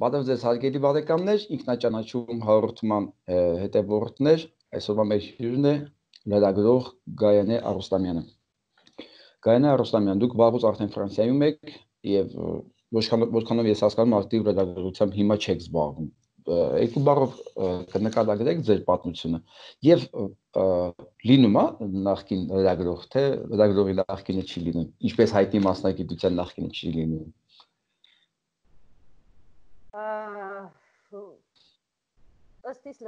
Բարև ձեզ հարգելի բարեկամներ, ինքնաճանաչում հաղորդման հետևորդներ, այսօրվա մեր հյուրն է լրագրող Գայանե Արուստամյանը։ Գայանե Արուստամյան, դուք վաղուց արդեն Ֆրանսիայում եք եւ որքանով ես հասկանում, ակտիվ լրագրությամբ հիմա չեք զբաղվում։ Երկու բառով կնկարագրեք ձեր պատմությունը եւ լինում է նախկին լրագրող, թե լրագրողի նախկինը չի լինում, ինչպես հայտնի մասնագիտության նախկինը չի լինում։ Ըստ իս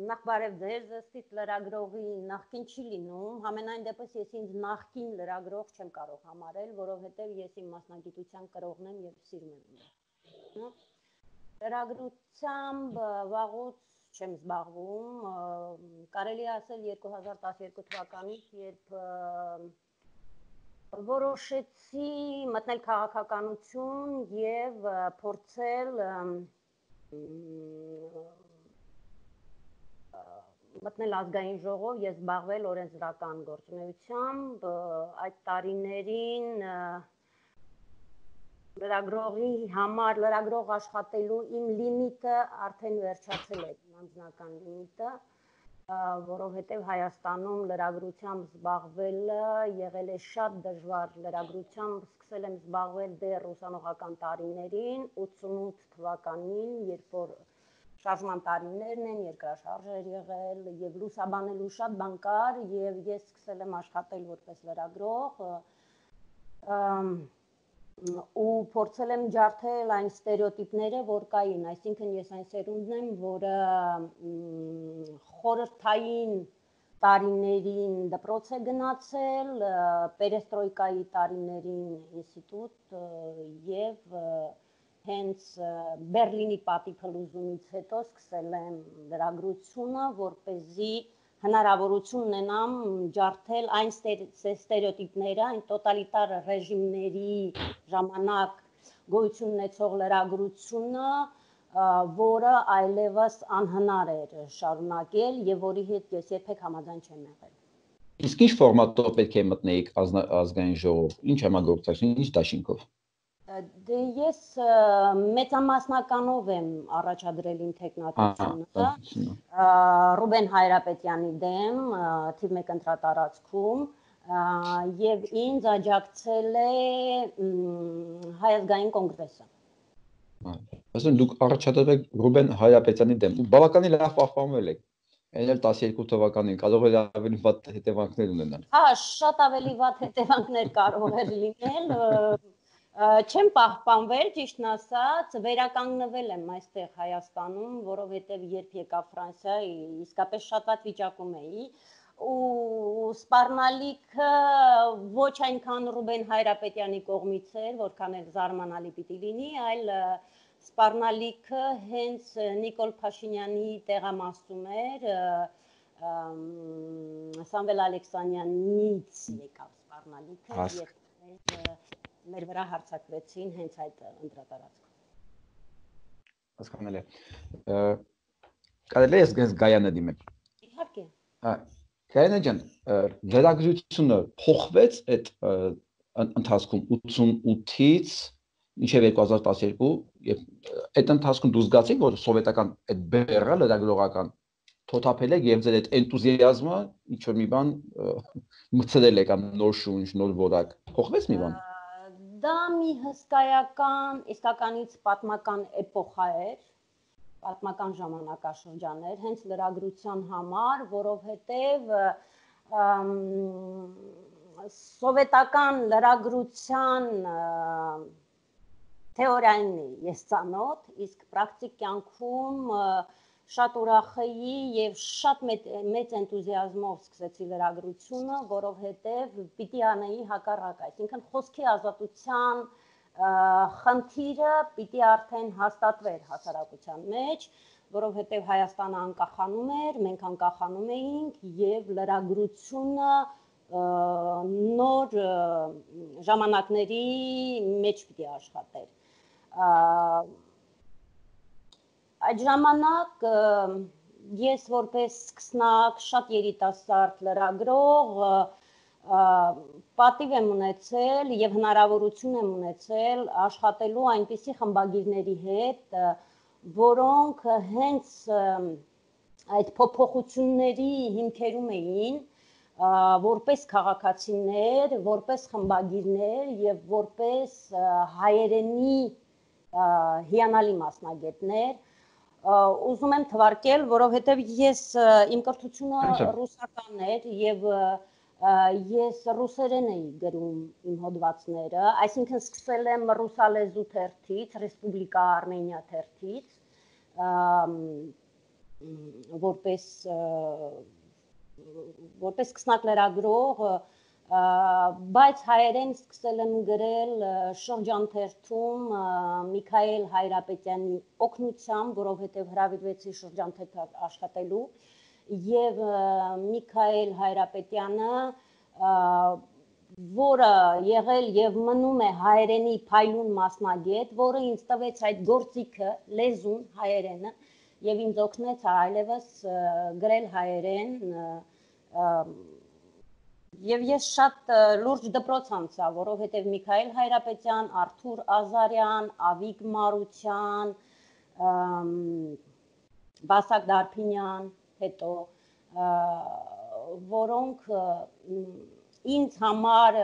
նախ բարև ձեզ, ըստ իս լրագրողի նախկին չի լինում, համենայն դեպս ես ինձ նախկին լրագրող չեմ կարող համարել, որովհետև ես իմ մասնագիտության կրողն եմ եւ սիրում եմ։ Լրագրությամբ վաղուց չեմ զբաղվում, կարելի է ասել 2012 թվականից, երբ որոշեցի մտնել քաղաքականություն եւ փորձել մտնել ազգային ժողով եւ զբաղվել օրենսդրական գործունեությամբ, այդ տարիներին լրագրողի համար լրագրող աշխատելու իմ լիմիտը արդեն վերջացել է, իմ անձնական լիմիտը, որովհետև Հայաստանում լրագրությամբ զբաղվելը եղել է շատ դժվար, լրագրությամբ սկսել եմ զբաղվել դեռ ուսանողական տարիներին, 88 թվականին, երբ որ շարժման տարիներն են, երկրաշարժ էր եղել եւ լուսաբանելու շատ բան կար եւ ես սկսել եմ աշխատել որպես լրագրող ու փորձել եմ ջարդել այն ստերեոտիպները, որ կային, այսինքն ես այն սերունդն եմ, որը խորհրդային տարիներին դպրոց է գնացել, պերեստրոյկայի տարիներին ինստիտուտ եւ հենց Բերլինի պատիփլուզումից հետո սկսել եմ լրագրությունը, որպեսզի հնարավորություն ունենամ ջարդել այն ստերեոտիպները, այն տոտալիտար ռեժիմների ժամանակ գոյություն ունեցող լրագրությունը, որը այլևս անհնար էր շարունակել եւ որի հետ ես երբեք համաձայն չեմ եղել։ Իսկ ինչ ֆորմատով պետք է մտնեիք ազգային ժողով, ինչ համագործակցություն, ինչ դաշինքով։ Դե ես մեծամասնականով եմ առաջադրել իմ թեկնածությունը Ռուբեն Հայրապետյանի դեմ թիվ 1 ընտրատարածքում եւ ինձ աջակցել է Հայ ազգային կոնգրեսը։ Այսինքն դուք առաջադրել եք Ռուբեն Հայրապետյանի դեմ, բավականին լավ պահպանվել եք։ Այն էլ 12 թվականին կարող է ավելի վատ հետևանքներ ունենալ։ Հա, շատ ավելի վատ հետևանքներ կարող էր լինել։ Չեմ պահպանվել, ճիշտն ասած, վերականգնվել եմ այստեղ Հայաստանում, որովհետև երբ եկա Ֆրանսիա, իսկապես շատ վատ վիճակում էի, ու սպառնալիքը ոչ այնքան Ռուբեն Հայրապետյանի կողմից էր, որքան էլ զարմանալի պիտի լինի, այլ սպառնալիքը հենց Նիկոլ Փաշինյանի տեղամասում էր, Սամվել Ալեքսանյանից եկավ սպառնալիքը, երբ մեր վրա հարձակվեցին հենց այդ ընտրատարածքում։ Հասկանալի է։ Կարելի է ես Գայանե դիմեմ։ Իհարկե։ Գայանե ջան, լրագրությունը փոխվեց այդ ընթացքում 88-ից մինչև 2012 եւ այդ ընթացքում դու զգացիք, որ սովետական այդ բեռը լրագրողական թոթափել եք եւ ձեր այդ էնտուզիազմը ինչ որ մի բան մտցրել եք, նոր շունչ, նոր որակ, փոխվեց մի բան։ Դա մի հսկայական, իսկականից պատմական էպոխա էր, պատմական ժամանակաշրջան էր, հենց լրագրության համար, որովհետև սովետական լրագրության թեորիային ես ծանոթ, իսկ պրակտիկ կյանքում շատ ուրախ էի եւ շատ մեծ էնտուզիազմով սկսեցի լրագրությունը, որովհետեւ պիտի անեի հակառակ, այսինքն խոսքի ազատության խնդիրը պիտի արդեն հաստատվեր հասարակության մեջ, որովհետեւ Հայաստանը անկախանում էր, մենք անկախանում էինք եւ լրագրությունը նոր ժամանակների մեջ պիտի աշխատեր։ Այդ ժամանակ ես որպես սկսնակ շատ երիտասարդ լրագրող պատիվ եմ ունեցել եւ հնարավորություն եմ ունեցել աշխատելու այնպիսի խմբագիրների հետ, որոնք հենց այդ փոփոխությունների հիմքերում էին որպես քաղաքացիներ, որպես խմբագիրներ եւ որպես հայերենի հիանալի մասնագետներ, ուզում եմ թվարկել, որովհետեւ ես իմ կրթությունը ռուսական էր եւ ես ռուսերեն էի գրում իմ հոդվածները, այսինքն սկսել եմ ռուսալեզու թերթից, Ռեսպուբլիկա Արմենիա թերթից, որպես սկսնակ լրագրող, բայց հայերեն սկսել եմ գրել շրջանթերթում Միքայել Հայրապետյանի օգնությամբ, որովհետև հրավիրվեցի շրջանթերթ աշխատելու, եւ Միքայել Հայրապետյանը, որը եղել եւ մնում է հայերենի փայլուն մասնագետ, որը ինձ տվեց այդ գործիքը, լեզուն, հայերենը, եւ ինձ օգնեց այլևս գրել հայերեն, եւ ես շատ լուրջ դպրոց անցա, որովհետեւ Միքայել Հայրապետյան, Արթուր Ազարյան, Ավիկ Մարության, Վասակ Դարփինյան, հետո որոնք ինձ համար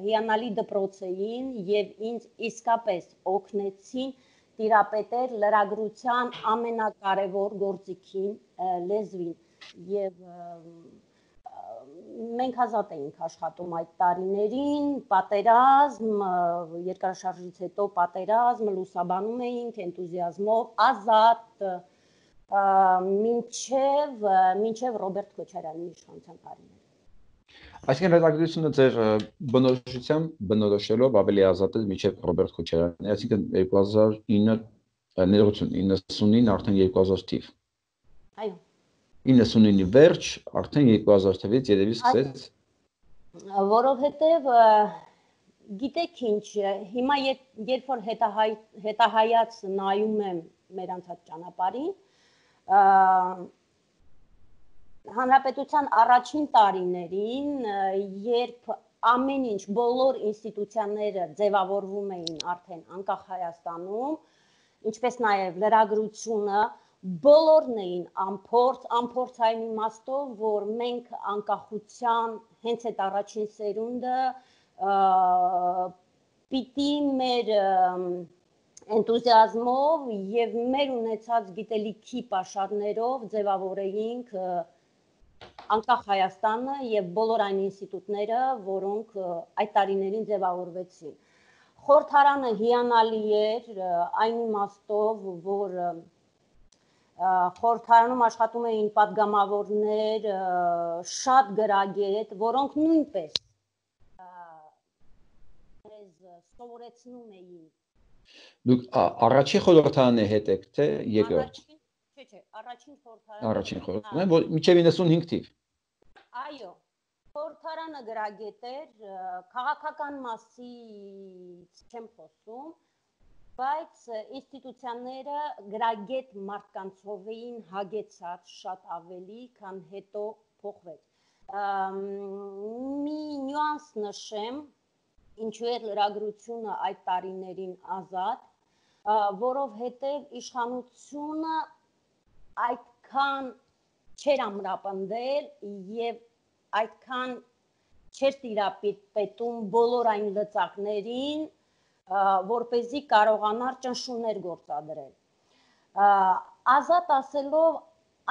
հիանալի դպրոց էին եւ ինձ իսկապես օգնեցին տիրապետել լրագրության ամենակարևոր գործիքին, լեզվին եւ մենք ազատ էինք աշխատում այդ տարիներին, պատերազմ, երկրաշարժից հետո պատերազմ, լուսաբանում էինք էնտուզիազմով, ազատ, մինչև Ռոբերտ Քոչարյանի իշխանության տարիները։ Այսինքն լրագրությունը ձեր բնորոշությամբ բնորոշելով ավելի ազատ է մինչև Ռոբերտ Քոչարյանի, այսինքն 2009 99 արդեն 2000 թիվ։ Այո։ 99-ի վերջ արդեն 2000 թվականից երևի սկսեց։ Որովհետև գիտեք ինչ, հիմա երբ որ հետահայաց նայում եմ մեր անցած ճանապարհին, Հանրապետության առաջին տարիներին, երբ ամեն ինչ, բոլոր ինստիտուցիաները ձևավորվում էին արդեն անկախ Հայաստանում, ինչպես նաև լրագրությունը, բոլորն էին անփորձ այն իմաստով, որ մենք անկախության հենց այդ առաջին սերունդը պիտի մեր էնտուզիազմով եւ մեր ունեցած գիտելիքի պաշարներով ձևավորեինք անկախ Հայաստանը եւ բոլոր այն ինստիտուտները, որոնք այդ տարիներին ձևավորվեցին։ Խորհրդարանը հիանալի էր այն իմաստով, որ խորհրդարանում աշխատում էին պատգամավորներ, շատ գրագետ, որոնք նույնպես սովորեցնում էին։ Դուք առաջին խորհրդարանի հետ եք, թե երկրորդ։ Չէ, առաջին խորհրդարանը։ Առաջին խորհրդարանը, որ մինչև 95 թիվ։ Այո, խորհրդարանը գրագետ էր, քաղաքական մասից չեմ խոսում, բայց ինստիտուցիաները գրագետ մարդկանցով էին հագեցած շատ ավելի, քան հետո փոխվեց։ Մի նյուանս նշեմ, ինչու էր լրագրությունը այդ տարիներին ազատ, որովհետև իշխանությունը այդքան չէր ամրապնդել եւ այդքան չէր տիրապետում բոլոր այն լծակներին, որպեսզի կարողանար ճնշումներ գործադրել։ Ազատ ասելով,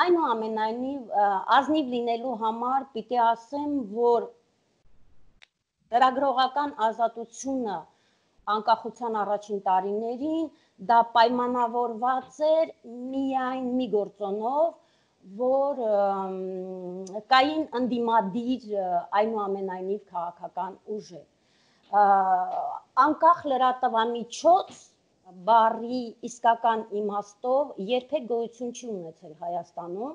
այնուամենայնիվ ազնիվ լինելու համար պիտի ասեմ, որ լրագրողական ազատությունը անկախության առաջին տարիներին դա պայմանավորված էր միայն մի գործոնով, որ կային ընդդիմադիր այնուամենայնիվ քաղաքական ուժեր։ Անկախ լրատվամիջոց բառի իսկական իմաստով երբեք գոյություն չի ունեցել Հայաստանում,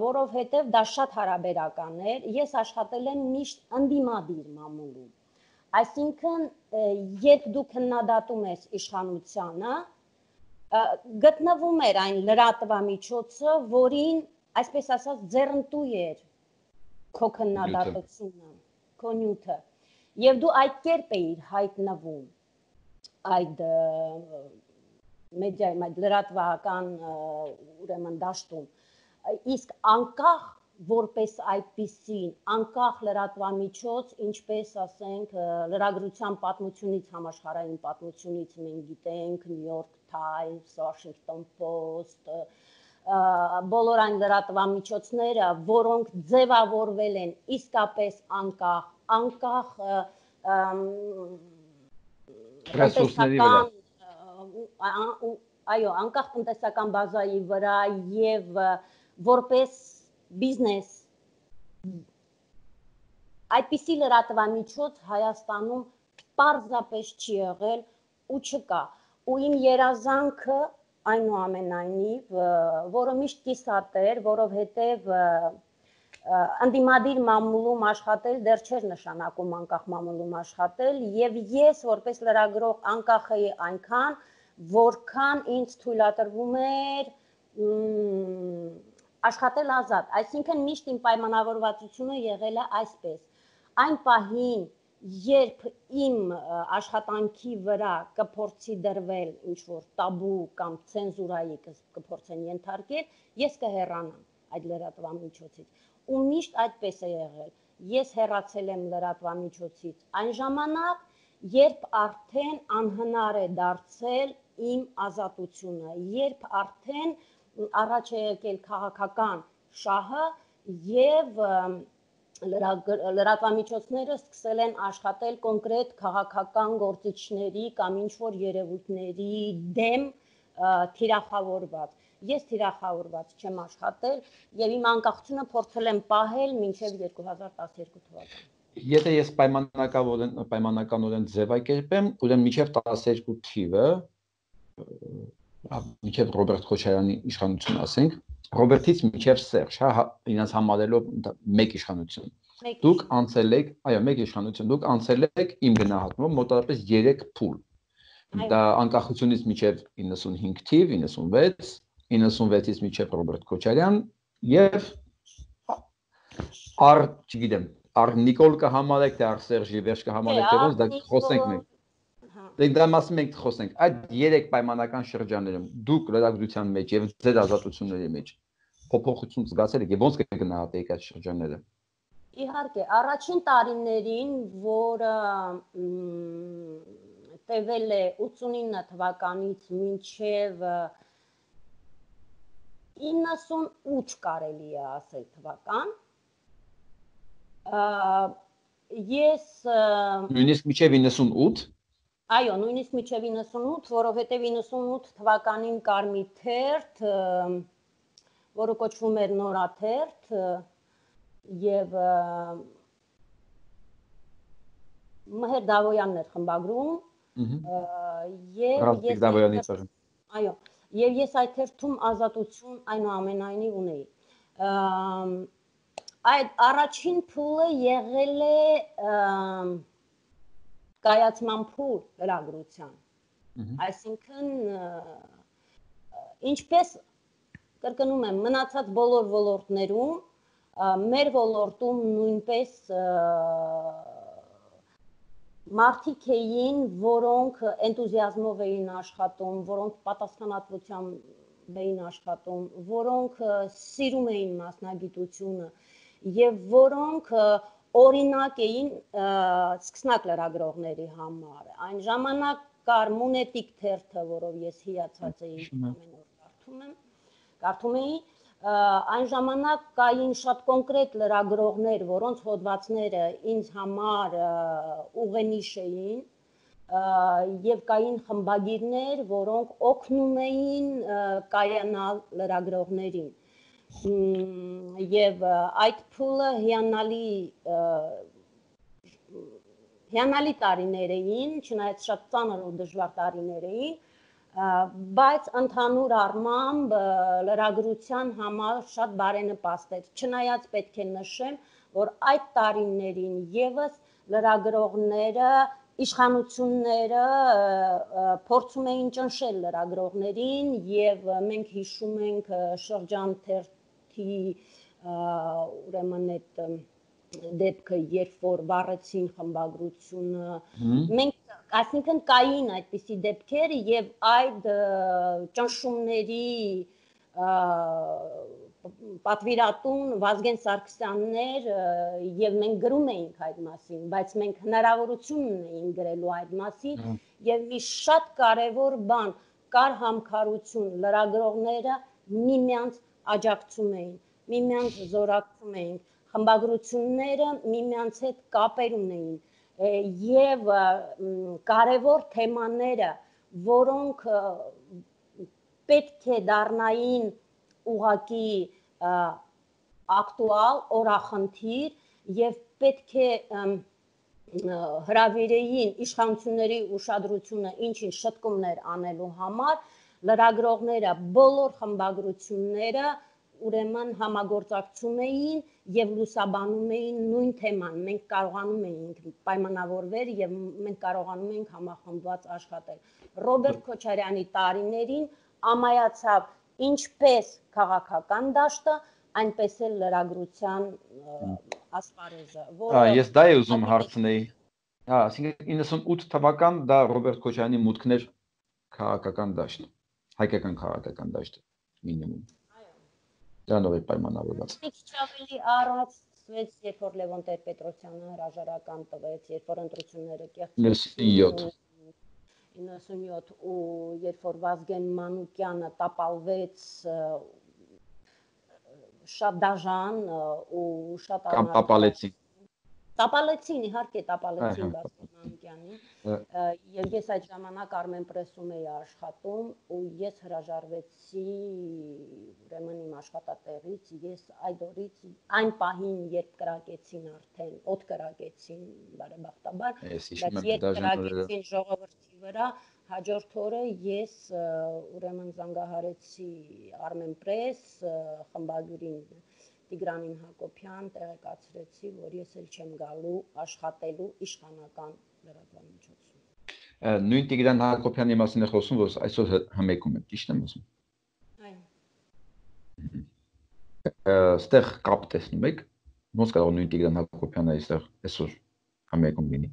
որովհետև դա շատ հարաբերական էր, ես աշխատել եմ միշտ ընդդիմադիր մամուլում, այսինքն երբ դու քննադատում ես իշխանությանը, գտնվում էր այն լրատվամիջոցը, որին, այսպես ասած, ձեռնտու էր քո քննադատությունը, քո նյութը, եւ դու այդ կերպ էիր հայտնվում այդ մեդիայում այդ լրատվական ուրեմն դաշտում, իսկ անկախ որպես այդպիսին, անկախ լրատվամիջոց, ինչպես ասենք լրագրության պատմությունից, համաշխարհային պատմությունից մենք գիտենք New York Times, Washington Post, բոլոր այն լրատվամիջոցները, որոնք ձևավորվել են իսկապես անկախ ռեսուրսների վրա, այո, անկախ տնտեսական բազայի վրա եւ որպես բիզնես այդպիսի լրատվամիջոց Հայաստանում պարզապես չի եղել ու չկա, ու իմ երազանքը այնուամենայնիվ, որը միշտ կիսատ էր, որովհետև ընդդիմադիր մամուլում աշխատել դեռ չէր նշանակում անկախ մամուլում աշխատել, եւ ես որպես լրագրող անկախ էի այնքան, որքան ինձ թույլատրվում էր աշխատել ազատ, այսինքն միշտ իմ պայմանավորվածությունը եղել է այսպես, այն պահին, երբ իմ աշխատանքի վրա կփորձի դրվել ինչ-որ տաբու կամ ցենզուրայի կփորձեն ենթարկել, ես կհեռանամ այդ լրատվամիջոցից, ու միշտ այդպես է եղել, ես հեռացել եմ լրատվամիջոցից այն ժամանակ, երբ արդեն անհնար է դարձել իմ ազատությունը, երբ արդեն առաջ է եկել քաղաքական շահը եւ լրատվամիջոցները սկսել են աշխատել կոնկրետ քաղաքական գործիչների կամ ինչ-որ երևույթների դեմ թիրախավորված։ Ես թիրախավորված չեմ աշխատել եւ իմ անկախությունը փորձել եմ պահել մինչեւ 2012 թվական։ Եթե ես պայմանականորեն ձևակերպեմ, ուրեմն մինչև 12 թիվը մինչև Ռոբերտ Քոչարյանի իշխանություն ասենք, Ռոբերտից մինչև Սերժ, հա, իրենց համարելով մեկ իշխանություն։ Դուք անցել եք, այո, մեկ իշխանություն, դուք անցել եք իմ գնահատմամբ մոտավորապես 3 փուլ։ Դա անկախությունից մինչև 95 թիվ, 96, 96-ից մինչև Ռոբերտ Քոչարյան եւ չգիտեմ, Նիկոլ կհամարեք, թե Սերժի վերջ կհամարեք, թե ոնց, դա խոսենք մենք։ Դա մասին մենք խոսենք, այդ 3 պայմանական շրջաններում դուք լրագրության մեջ եւ ձեր ազատությունների մեջ փոփոխություն զգացել եք եւ ոնց կգնահատեիք այդ շրջանները։ Իհարկե, առաջին տարիներին, որը տևել է 89 թվականից մինչև 98 կարելի է ասել թվական, ես նույնիսկ մինչև 98 Այո, նույնիսկ մինչև 98, որովհետև 98 թվականին կար մի թերթ, որը կոչվում էր Նորաթերթ, եւ Մհեր Դավոյանն էր խմբագրում, եւ ես այդ թերթում ազատություն այնուամենայնիվ ունեի։ Այդ առաջին փուլը եղել է կայացման փուլ լրագրության, այսինքն ինչպես կրկնում եմ մնացած բոլոր ոլորտներում, մեր ոլորտում նույնպես մարդիկ էին, որոնք էնտուզիազմով էին աշխատում, որոնք պատասխանատվությամբ էին աշխատում, որոնք սիրում էին մասնագիտությունը եւ որոնք օրինակ էին սկսնակ լրագրողների համար։ Այն ժամանակ կար Մունետիկ թերթը, որով ես հիացած էի ամեն օր կարդում էի, այն ժամանակ կային շատ կոնկրետ լրագրողներ, որոնց հոդվածները ինձ համար ուղենիշ էին, եւ կային խմբագիրներ, որոնք օգնում էին կայանալ լրագրողներին։ Եվ այդ փուլը հիանալի տարիներ էին, չնայած շատ ծանր ու դժվար տարիներ էին, բայց ընդհանուր առմամբ լրագրության համար շատ բարենպաստ էր, չնայած պետք է նշեմ, որ այդ տարիներին եւս լրագրողները, իշխանությունները փորձում էին ճնշել լրագրողներին եւ մենք հիշում ենք շրջան թերթի ուրեմն այդ դեպքը, երբ որ վառեցին խմբագրությունը, մենք Այսինքն կային այդպիսի դեպքեր եւ այդ ճնշումների պատվիրատուն Վազգեն Սարգսյաններ եւ մենք գրում էինք այդ մասին, բայց մենք հնարավորություն ունեինք գրելու այդ մասին եւ մի շատ կարեւոր բան կար համքարություն, լրագրողները միմյանց աջակցում էին, միմյանց զորակցում էին, խմբագրությունները միմյանց հետ կապեր ունեին եւ կարևոր թեմաները, որոնք պետք է դառնային ուղղակի ակտուալ, օրախնդիր եւ պետք է հրավիրեին իշխանությունների ուշադրությունը ինչ-ինչ շտկումներ անելու համար, լրագրողները, բոլոր խմբագրությունները ուրեմն համագործակցում էին եւ լուսաբանում էին նույն թեման։ Մենք կարողանում էինք պայմանավորվել եւ մենք կարողանում էինք համախմբված աշխատել։ Ռոբերտ Քոչարյանի տարիներին ամայացավ ինչպես քաղաքական դաշտը, այնպես էլ լրագրության ասպարեզը, որը ես դա եմ ուզում հարցնել։ Այսինքն 98 թվական դա Ռոբերտ Քոչարյանի մուտքն էր քաղաքական դաշտ, հայկական քաղաքական դաշտ մինիմում։ Դրանով է պայմանավորված։ Մի քիչ ավելի առաջ ցույց, երբ որ Լևոն Տեր-Պետրոսյանը հրաժարական տվեց, երբ որ ընտրությունները կեղծվեցին 97 ու երբ որ Վազգեն Մանուկյանը տապալվեց շատ դաժան ու շատ կամ տապալեցին։ Տապալեցին, իհարկե տապալեցին Վազգեն Մանուկյանին եւ ես այդ ժամանակ Armenpress-ում էի աշխատում ու ես հրաժարվեցի ուրեմն իմ աշխատատեղից, ես այդ օրից այն պահին երբ կրակեցին արդեն, օդ կրակեցին բարեբախտաբար, բայց երբ կրակեցին ժողովրդի վրա, հաջորդ օրը ես ուրեմն զանգահարեցի Armenpress խմբագրին Տիգրանին Հակոբյան տեղեկացրեցի, որ ես էլ չեմ գալու աշխատելու իշխանական լրատվամիջոցում։ Նույն Տիգրան Հակոբյանի մասին է խոսում, որ այսօր հմեկում է, ճիշտ եմ ասում։ Այո։ Ստեղ կապ տեսնում եք, ոնց կարող նույն Տիգրան Հակոբյանը այստեղ այսօր հմեկում լինի։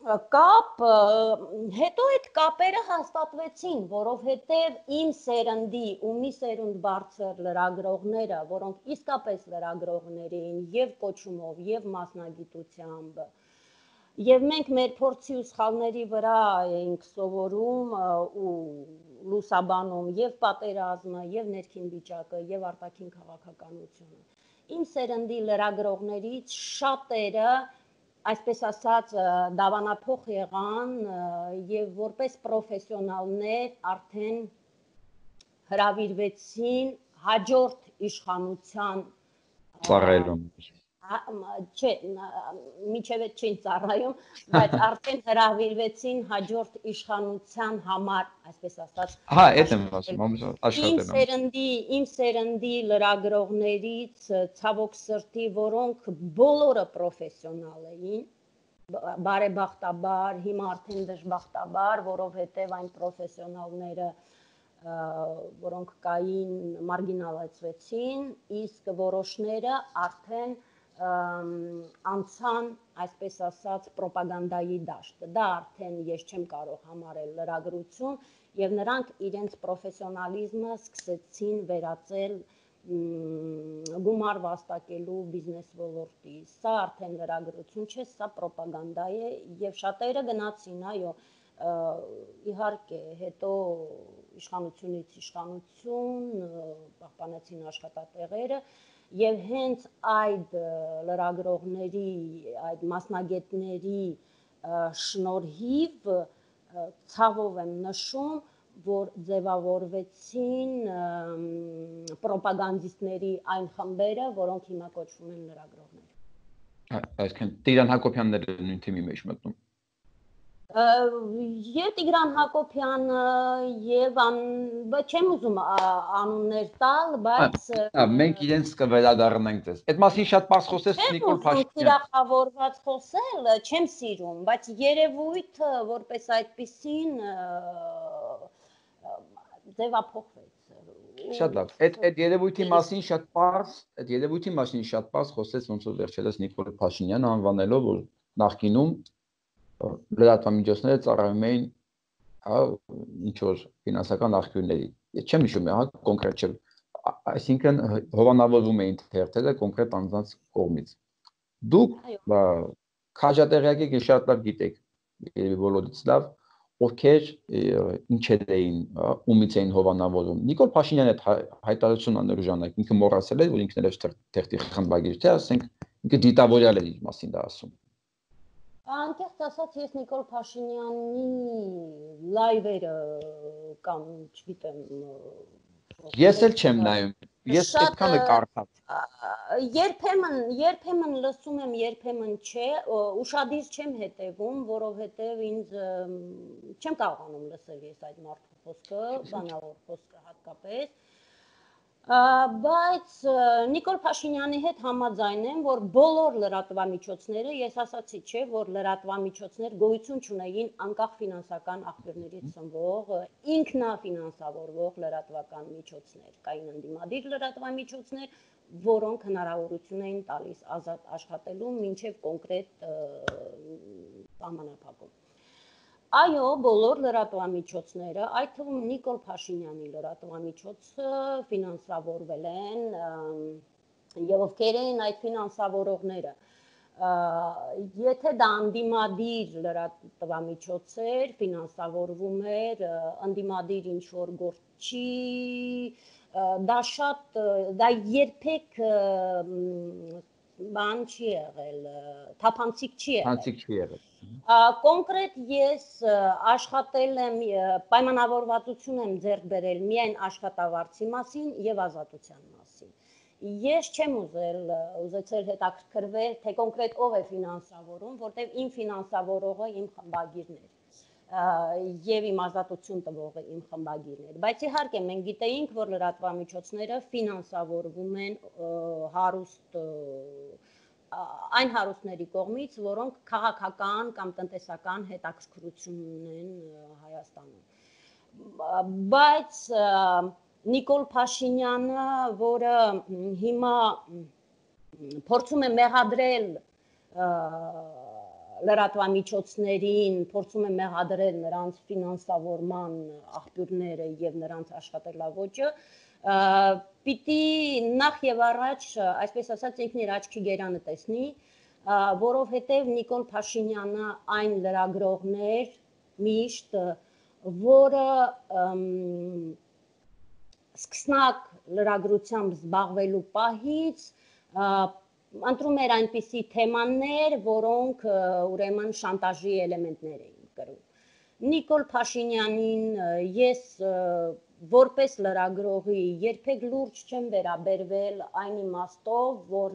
Կապ, հետո այդ կապերը հաստատվեցին, որովհետև իմ սերնդի ու մի սերունդ բարձր լրագրողները, որոնք իսկապես լրագրողներ էին եւ կոչումով, եւ մասնագիտությամբ, եւ մենք մեր փորձի ու սխալների վրա էինք սովորում ու լուսաբանում եւ պատերազմը, եւ ներքին վիճակը, եւ արտաքին քաղաքականությունը։ Իմ սերնդի լրագրողներից շատերը այսպես ասած դավանափոխ եղան եւ որպես պրոֆեսիոնալներ արդեն հրավիրվեցին հաջորդ իշխանության ծառայելուն։ Չէ, միջև այդ չէին ծառայում, բայց արդեն հրավիրվեցին հաջորդ իշխանության համար, այսպես ասած։ Այդ եմ ասում, աշխատել։ Իմ սերնդի լրագրողներից ցավոք սրտի, որոնք բոլորը պրոֆեսիոնալ էին, բարեբախտաբար, հիմա արդեն դժբախտաբար, որովհետև այն պրոֆեսիոնալները, որոնք կային, մարգինալացվեցին, իսկ որոշները արդեն անցան, այսպես ասած, պրոպագանդայի դաշտ։ Դա արդեն ես չեմ կարող համարել լրագրություն եւ նրանք իրենց պրոֆեսիոնալիզմը սկսեցին վերածել գումար վաստակելու բիզնես ոլորտի։ Սա արդեն լրագրություն չէ, սա պրոպագանդա է եւ շատերը գնացին, այո, իհարկե, հետո իշխանությունից իշխանություն պահպանեցին աշխատատեղերը եւ հենց այդ լրագրողների, այդ մասնագետների շնորհիվ ցավով եմ նշում, որ ձևավորվեցին պրոպագանդիստների այն խմբերը, որոնք հիմա կոչվում են լրագրողներ։ Այսինքն Տիգրան Հակոբյանն էր նույն թիմի մեջ մտնում։ Եվ Տիգրան Հակոբյանը եւ չեմ ուզում անուններ տալ, բայց մենք իրենց կվերադառնանք դες։ Այդ մասին շատ բաց խոսեց Նիկոլ Փաշինյանը։ Թիրախավորված խոսել չեմ սիրում, բայց երևույթը որպես այդպեսին ձևափոխվեց։ Շատ լավ։ Այդ երևույթի մասին շատ բաց խոսեց ոնց որ վերջերս Նիկոլ Փաշինյանը անվանելով, որ նախկինում լրատվամիջոցները ծառայում էին ինչ որ ֆինանսական աղբյուրների։ Չեմ հիշում, կոնկրետ չէ։ Այսինքն հովանավորվում էին թերթերը կոնկրետ անձանց կողմից։ Դուք քաջատեղյակ եք, շատ լավ գիտեք, բոլորից լավ, ովքեր ինչեր էին, ումից էին հովանավորում։ Նիկոլ Փաշինյանը հայտարարություն աներ ժամանակ, ինքը մոռացել էր, որ ինքն էր թերթի խմբագիր, թե ասենք ինքը դիտավորյալ էր իր մասին դա ասում։ Անկեղծ ասած, ես Նիկոլ Փաշինյանի լայվերը կամ չգիտեմ Ես էլ չեմ նայում, ես այդքանը կարդամ։ Երբեմն լսում եմ, երբեմն չէ, ուշադիր չեմ հետևում, որովհետև ինձ չեմ կարողանում լսել ես այդ մարդու խոսքը, բանավոր խոսքը հատկապես, բայց Նիկոլ Փաշինյանի հետ համաձայն եմ, որ բոլոր լրատվամիջոցները, ես ասացի չէ, որ լրատվամիջոցներ գոյություն չունեին անկախ ֆինանսական աղբյուրներից ծնվող, ինքնաֆինանսավորվող լրատվական միջոցներ, կային ընդդիմադիր լրատվամիջոցներ, որոնք հնարավորություն էին տալիս ազատ աշխատելու մինչև կոնկրետ սահմանափակում։ Այո, բոլոր լրատվամիջոցները, այդ թվում Նիկոլ Փաշինյանի լրատվամիջոցը ֆինանսավորվել են եւ ովքեր են այդ ֆինանսավորողները։ Եթե դա ընդդիմադիր լրատվամիջոց էր, ֆինանսավորվում էր ընդդիմադիր ինչ-որ գործի, դա երբեք բան չի եղել, թափանցիկ չի եղել։ Կոնկրետ ես աշխատել եմ, պայմանավորվածություն եմ ձեռք բերել միայն աշխատավարձի մասին եւ ազատության մասին։ Ես չեմ ուզեցել հետաքրքրվել, թե կոնկրետ ով է ֆինանսավորում, որտեղ իմ ֆինանսավորողը իմ խմբագիրն էր եւ իմ ազատություն տվողը իմ խմբագիրն էր, բայց իհարկե մենք գիտեինք, որ լրատվամիջոցները ֆինանսավորվում են այն հարուստների կողմից, որոնք քաղաքական կամ տնտեսական հետաքրքրություն ունեն Հայաստանում։ Բայց Նիկոլ Փաշինյանը, որը հիմա փորձում է մեղադրել լրատվամիջոցներին, փորձում է մեղադրել նրանց ֆինանսավորման աղբյուրները եւ նրանց աշխատելաոճը, պիտի նախ եւ առաջ, այսպես ասած, ինքն իր աչքի գերանը տեսնի, որովհետեւ Նիկոլ Փաշինյանը այն լրագրողն էր միշտ, որը սկսնակ լրագրությամբ զբաղվելու պահից ընտրում էր այնպիսի թեմաներ, որոնք ուրեմն շանտաժի էլեմենտներ էին կրում։ Նիկոլ Փաշինյանին ես որպես լրագրողի երբեք լուրջ չեմ վերաբերվել այն իմաստով, որ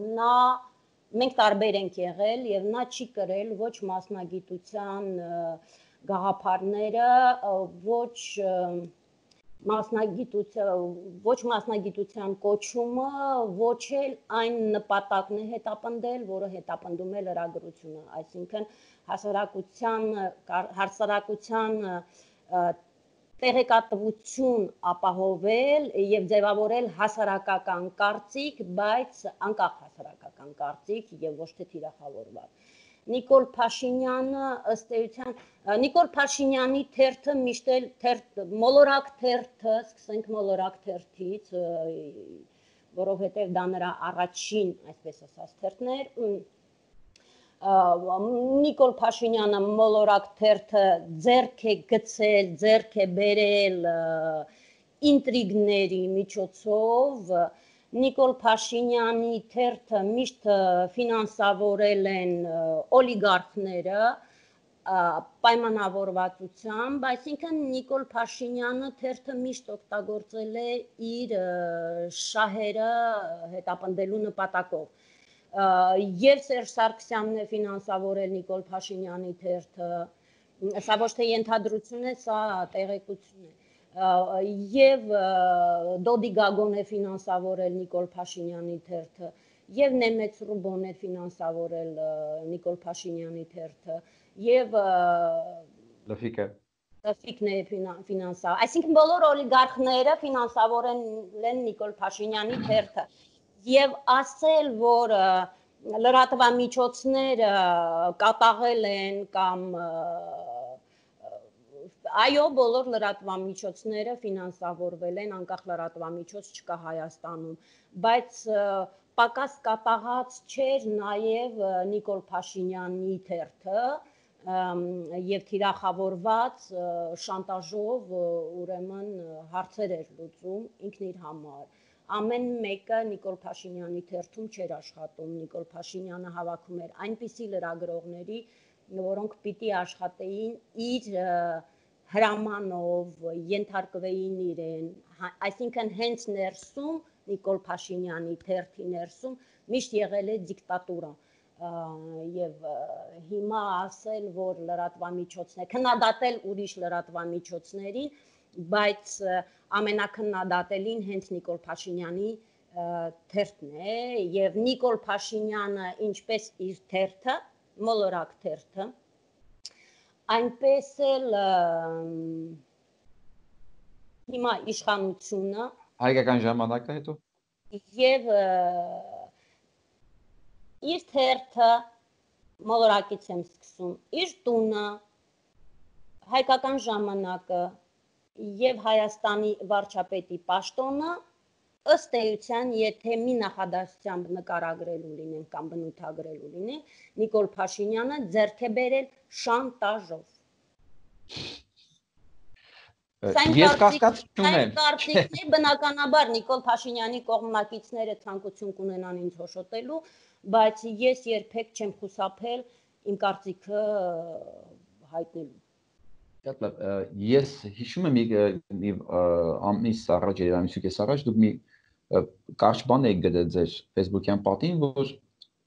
մենք տարբեր ենք եղել եւ նա չի կրել ոչ մասնագիտության գաղափարները, ոչ մասնագիտության կոչումը, ոչ էլ այն նպատակն է հետապնդել, որը հետապնդում է լրագրությունը, այսինքն հասարակության տեղեկատվություն ապահովել եւ ձևավորել հասարակական կարծիք, բայց անկախ հասարակական կարծիք եւ ոչ թե թիրախավորված։ Նիկոլ Փաշինյանը ըստ էության, Նիկոլ Փաշինյանի թերթը միշտ էլ մոլորակ թերթը, սկսենք մոլորակ թերթից, որովհետեւ դա նրա առաջին, այսպես ասած, թերթն էր, Նիկոլ Փաշինյանը մոլորակ թերթը ձեռք է գցել, ձեռք է բերել ինտրիգների միջոցով, Նիկոլ Փաշինյանի թերթը միշտ ֆինանսավորել են օլիգարխները պայմանավորվածությամբ, այսինքն Նիկոլ Փաշինյանը թերթը միշտ օգտագործել է իր շահերը հետապնդելու նպատակով։ Եվ Սերժ Սարգսյանն է ֆինանսավորել Նիկոլ Փաշինյանի թերթը, սա ոչ թե ենթադրություն է, սա տեղեկություն է։ Եվ Դոդի Գագոն է ֆինանսավորել Նիկոլ Փաշինյանի թերթը, եւ Նեմեց Ռուբոն է ֆինանսավորել Նիկոլ Փաշինյանի թերթը, եւ Լֆիկն է ֆինանսավորել, այսինքն բոլոր օլիգարխները ֆինանսավորել են Նիկոլ Փաշինյանի թերթը, եւ ասել, որ լրատվամիջոցները կատաղել են կամ այո, բոլոր լրատվամիջոցները ֆինանսավորվել են, անկախ լրատվամիջոց չկա Հայաստանում, բայց պակաս կատաղած չէր նաև Նիկոլ Փաշինյանի թերթը եւ թիրախավորված շանտաժով ուրեմն հարցեր էր լուծում ինքն իր համար։ Ամեն մեկը Նիկոլ Փաշինյանի թերթում չէր աշխատում, Նիկոլ Փաշինյանը հավաքում էր այնպիսի լրագրողների, որոնք պիտի աշխատեին իր հրամանով, ենթարկվեին իրեն, այսինքն հենց ներսում Նիկոլ Փաշինյանի թերթի ներսում միշտ եղել է դիկտատուրա եւ հիմա ասել, որ լրատվամիջոցներ քննադատել ուրիշ լրատվամիջոցներին, բայց ամենակննադատելին հենց Նիկոլ Փաշինյանի թերթն է եւ Նիկոլ Փաշինյանը ինչպես իր թերթը, մոլորակ թերթը, այնպես էլ հիմա իշխանությունը հայկական ժամանակը հետո եւ իր թերթը մոլորակից եմ սկսում, իր տունը, հայկական ժամանակը եւ Հայաստանի վարչապետի պաշտոնը ըստ էության, եթե մի նախադասությամբ նկարագրելու լինեն կամ բնութագրելու լինեն, Նիկոլ Փաշինյանը ձեռք է բերել շանտաժով։ Ես կասկած չունեմ։ Բնականաբար Նիկոլ Փաշինյանի կողմնակիցները ցանկություն կունենան ինձ հոշոտելու, բայց ես երբեք չեմ խուսափել իմ կարծիքը հայտնելու։ Ես հիշում եմ մի ամիս առաջ, ամիսուկես առաջ դուք մի կարճ բան եք գրել ձեր Facebook-յան պատին, որ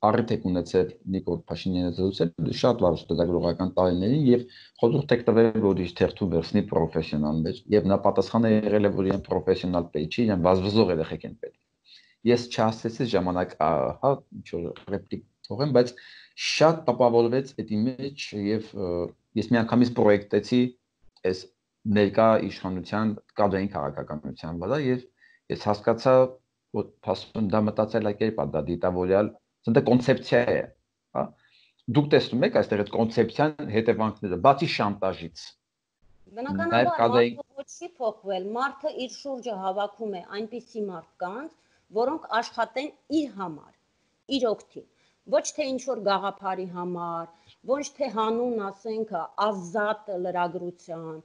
առիթ եք ունեցել Նիկոլ Փաշինյանը զրուցել շատ լավ լրագրողական տարիներին եւ խորհուրդ եք տվել, որ իր թերթում վերցնի պրոֆեսիոնալներ եւ նա պատասխանը եղել է, որ իրեն պրոֆեսիոնալ պետք չի, իրեն վազվզող երեխեք են պետք։ Ես չհասցեցի ժամանակ, հա, ինչ որ ռեպլիկ թողեմ, բայց շատ տպավորվեց այդի մեջ եւ ես միանգամից պրոյեկտեցի այս ներկա իշխանության կադրային քաղաքականության վրա եւ ես հասկացա, որ փաստորեն դա մտածելակերպ է, դա դիտավորյալ, դա կոնցեպցիա է, հա։ Դուք տեսնում եք այստեղ այդ կոնցեպցիան հետևանքները, բացի շանտաժից։ Բնականաբար ոչ չի փոխվել, մարդը իր շուրջը հավաքում է այնպիսի մարդկանց, որոնք աշխատեն իր համար, իր օգտին, ոչ թե ինչ-որ գաղափարի համար, ոչ թե հանուն, ասենք, ազատ լրագրության,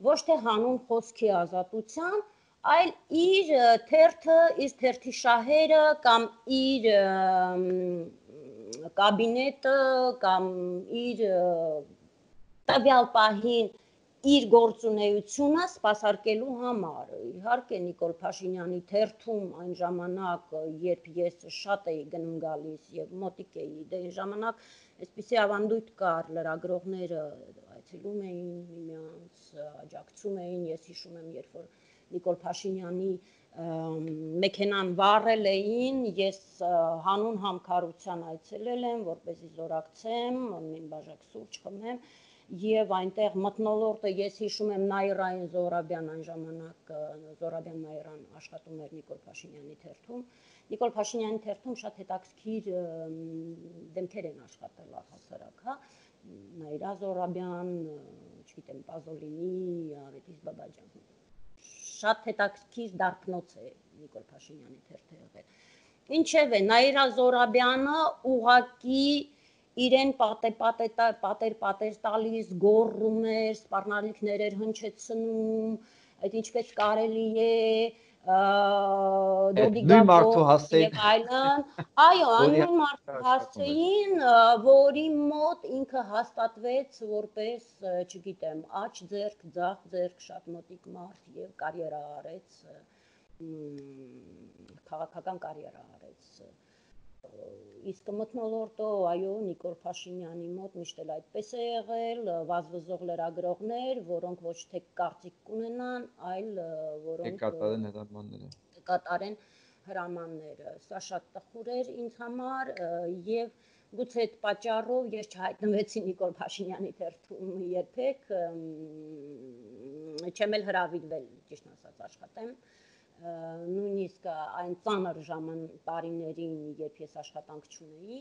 ոչ թե հանուն խոսքի ազատության, այլ իր թերթը, իր թերթի շահերը կամ իր կաբինետը կամ իր տվյալ պահին իր գործունեությունը սպասարկելու համար։ Իհարկե Նիկոլ Փաշինյանի թերթում այն ժամանակ, երբ ես շատ էի գնում գալիս եւ մոտիկ էի, դե այն ժամանակ այսպիսի ավանդույթ կար, լրագրողները այցելում էին միմյանց, աջակցում էին, ես հիշում եմ, երբ որ Նիկոլ Փաշինյանի մեքենան վառել էին, ես հանուն համքարության այցելել եմ, որպեսզի զորակցեմ, մի բաժակ սուրճ խմեմ եւ այնտեղ մթնոլորտը ես հիշում եմ Նաիրային Զոհրաբյան այն ժամանակ Զոհրաբյան Նաիրան աշխատում էր Նիկոլ Փաշինյանի թերթում Նիկոլ Փաշինյանի թերթում շատ հետաքրքիր դեմքեր են աշխատել առհասարակ, հա Նաիրա Զոհրաբյան, չգիտեմ, Պազոլինի, Արեդիս Բաբաջան շատ հետաքրքիր դարբնոց է Նիկոլ Փաշինյանի թերթը եղել ինչևէ Նաիրա Զոհրաբյանը ուղղակի իրեն պատեր տալիս, գոռում էր, սպառնալիքներ էր հնչեցնում, այդ ինչպես կարելի է, նույն մարդու հասցեին, եւ այլն, այո, նույն մարդու հասցեին, որի մոտ ինքը հաստատվեց որպես, չգիտեմ, աջ ձեռք, ձախ ձեռք, շատ մոտիկ մարդ եւ կարիերա արեց, քաղաքական կարիերա արեց իսկ մթնոլորտը, այո, Նիկոլ Փաշինյանի մոտ միշտ էլ այդպես է եղել, վազվզող լրագրողներ, որոնք ոչ թե կարծիք կունենան, այլ որոնք կկատարեն հրամանները։ Սա շատ տխուր էր ինձ համար եւ գուցե այդ պատճառով ես չհայտնվեցի Նիկոլ Փաշինյանի թերթում երբեք, չեմ էլ հրավիրվել, ճիշտ ասած, աշխատեմ նույնիսկ այն ծանր տարիներին, երբ ես աշխատանք չունեի,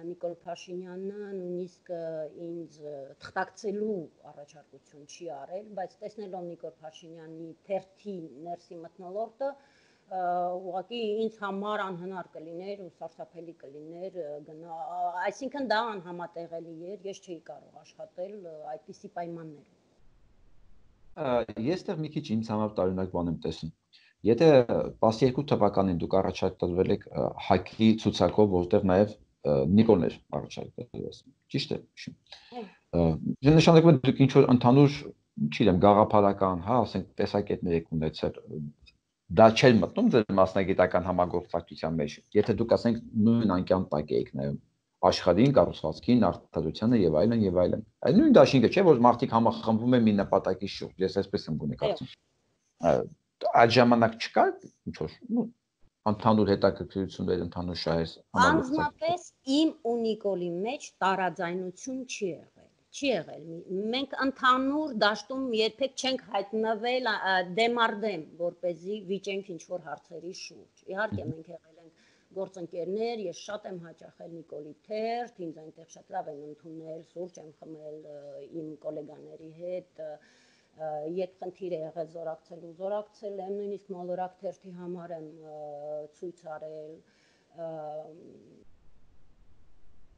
Նիկոլ Փաշինյանը նույնիսկ ինձ թղթակցելու առաջարկություն չի արել, բայց տեսնելով Նիկոլ Փաշինյանի թերթի ներսի մթնոլորտը, ուղղակի ինձ համար անհնար կլիներ ու սարսափելի կլիներ գնա, այսինքն դա անհամատեղելի էր, ես չէի կարող աշխատել այդպիսի պայմաններում։ Ես դեռ մի քիչ ինձ համար տարօրինակ բան եմ տեսնում։ Եթե 12 թվականին դուք առաջարկվել եք ՀԱԿ-ի ցուցակով, որտեղ նաև Նիկոլն էր առաջարկվել, ճիշտ է։ Դա նշանակում է դուք ինչ-որ ընդհանուր, չգիտեմ, գաղափարական, հա, ասենք տեսակետներ եք ունեցել։ Դա չէր մտնում ձեր մասնագիտական համագործակցության մեջ։ Եթե դուք ասենք նույն անկյան տակ եք նայում աշխարհին, կառուցվածքին, արտադրությանը եւ այլն եւ այլն։ Այդ նույն դաշինքը չէ, որ մարդիկ համախմբվում են մի նպատակի շուրջ։ Ես այսպես եմ գոնե կարծում։ Այդ ժամանակ չկա ինչ որ ընդհանուր հետաքրքրություններ, ընդհանուր շահեր համագործակցություն։ Անձնապես իմ ու Նիկոլի մեջ տարաձայնություն չի եղել։ Չի եղել։ Մենք ընդհանուր դաշտում երբեք չենք հայտնվել դեմարդեմ, որպեսզի վիճենք ինչ որ հարցերի շուրջ։ Իհարկե մենք եղել ենք գործընկերներ, ես շատ եմ հաճախել Նիկոլի թերթ, ինձ այնտեղ շատ լավ են ընդունել, սուրճ եմ խմել իմ գոլեգաների հետ, երբ խնդիր է եղել զորակցել եմ, նույնիսկ մոլորակ թերթի համար եմ ցույց արել,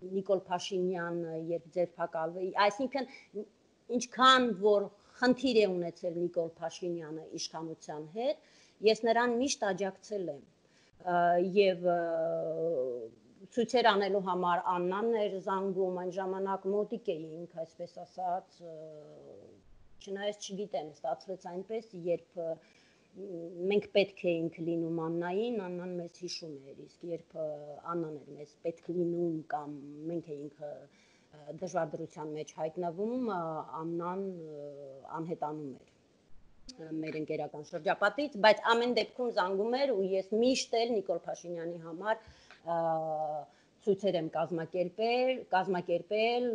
Նիկոլ Փաշինյանը, երբ ձերբակալվի, այսինքն ինչքան որ խնդիր է ունեցել Նիկոլ Փաշինյանը իշխանության հետ, ես նրան միշտ աջակցել եմ եւ ցույցեր անելու համար Աննան էր զանգում, այն ժամանակ մոտիկ էինք, այսպես ասած, չնայած չգիտեմ, ստացվեց այնպես, երբ մենք պետք էինք լինում Աննային, Աննան մեզ հիշում էր, իսկ երբ Աննան էր մեզ պետք լինում կամ մենք էինք դժվար դրության մեջ հայտնվում, Աննան անհետանում էր մեր ընկերական շրջապատից, բայց ամեն դեպքում զանգում էր ու ես միշտ էլ Նիկոլ Փաշինյանի համար ցույցեր եմ կազմակերպել,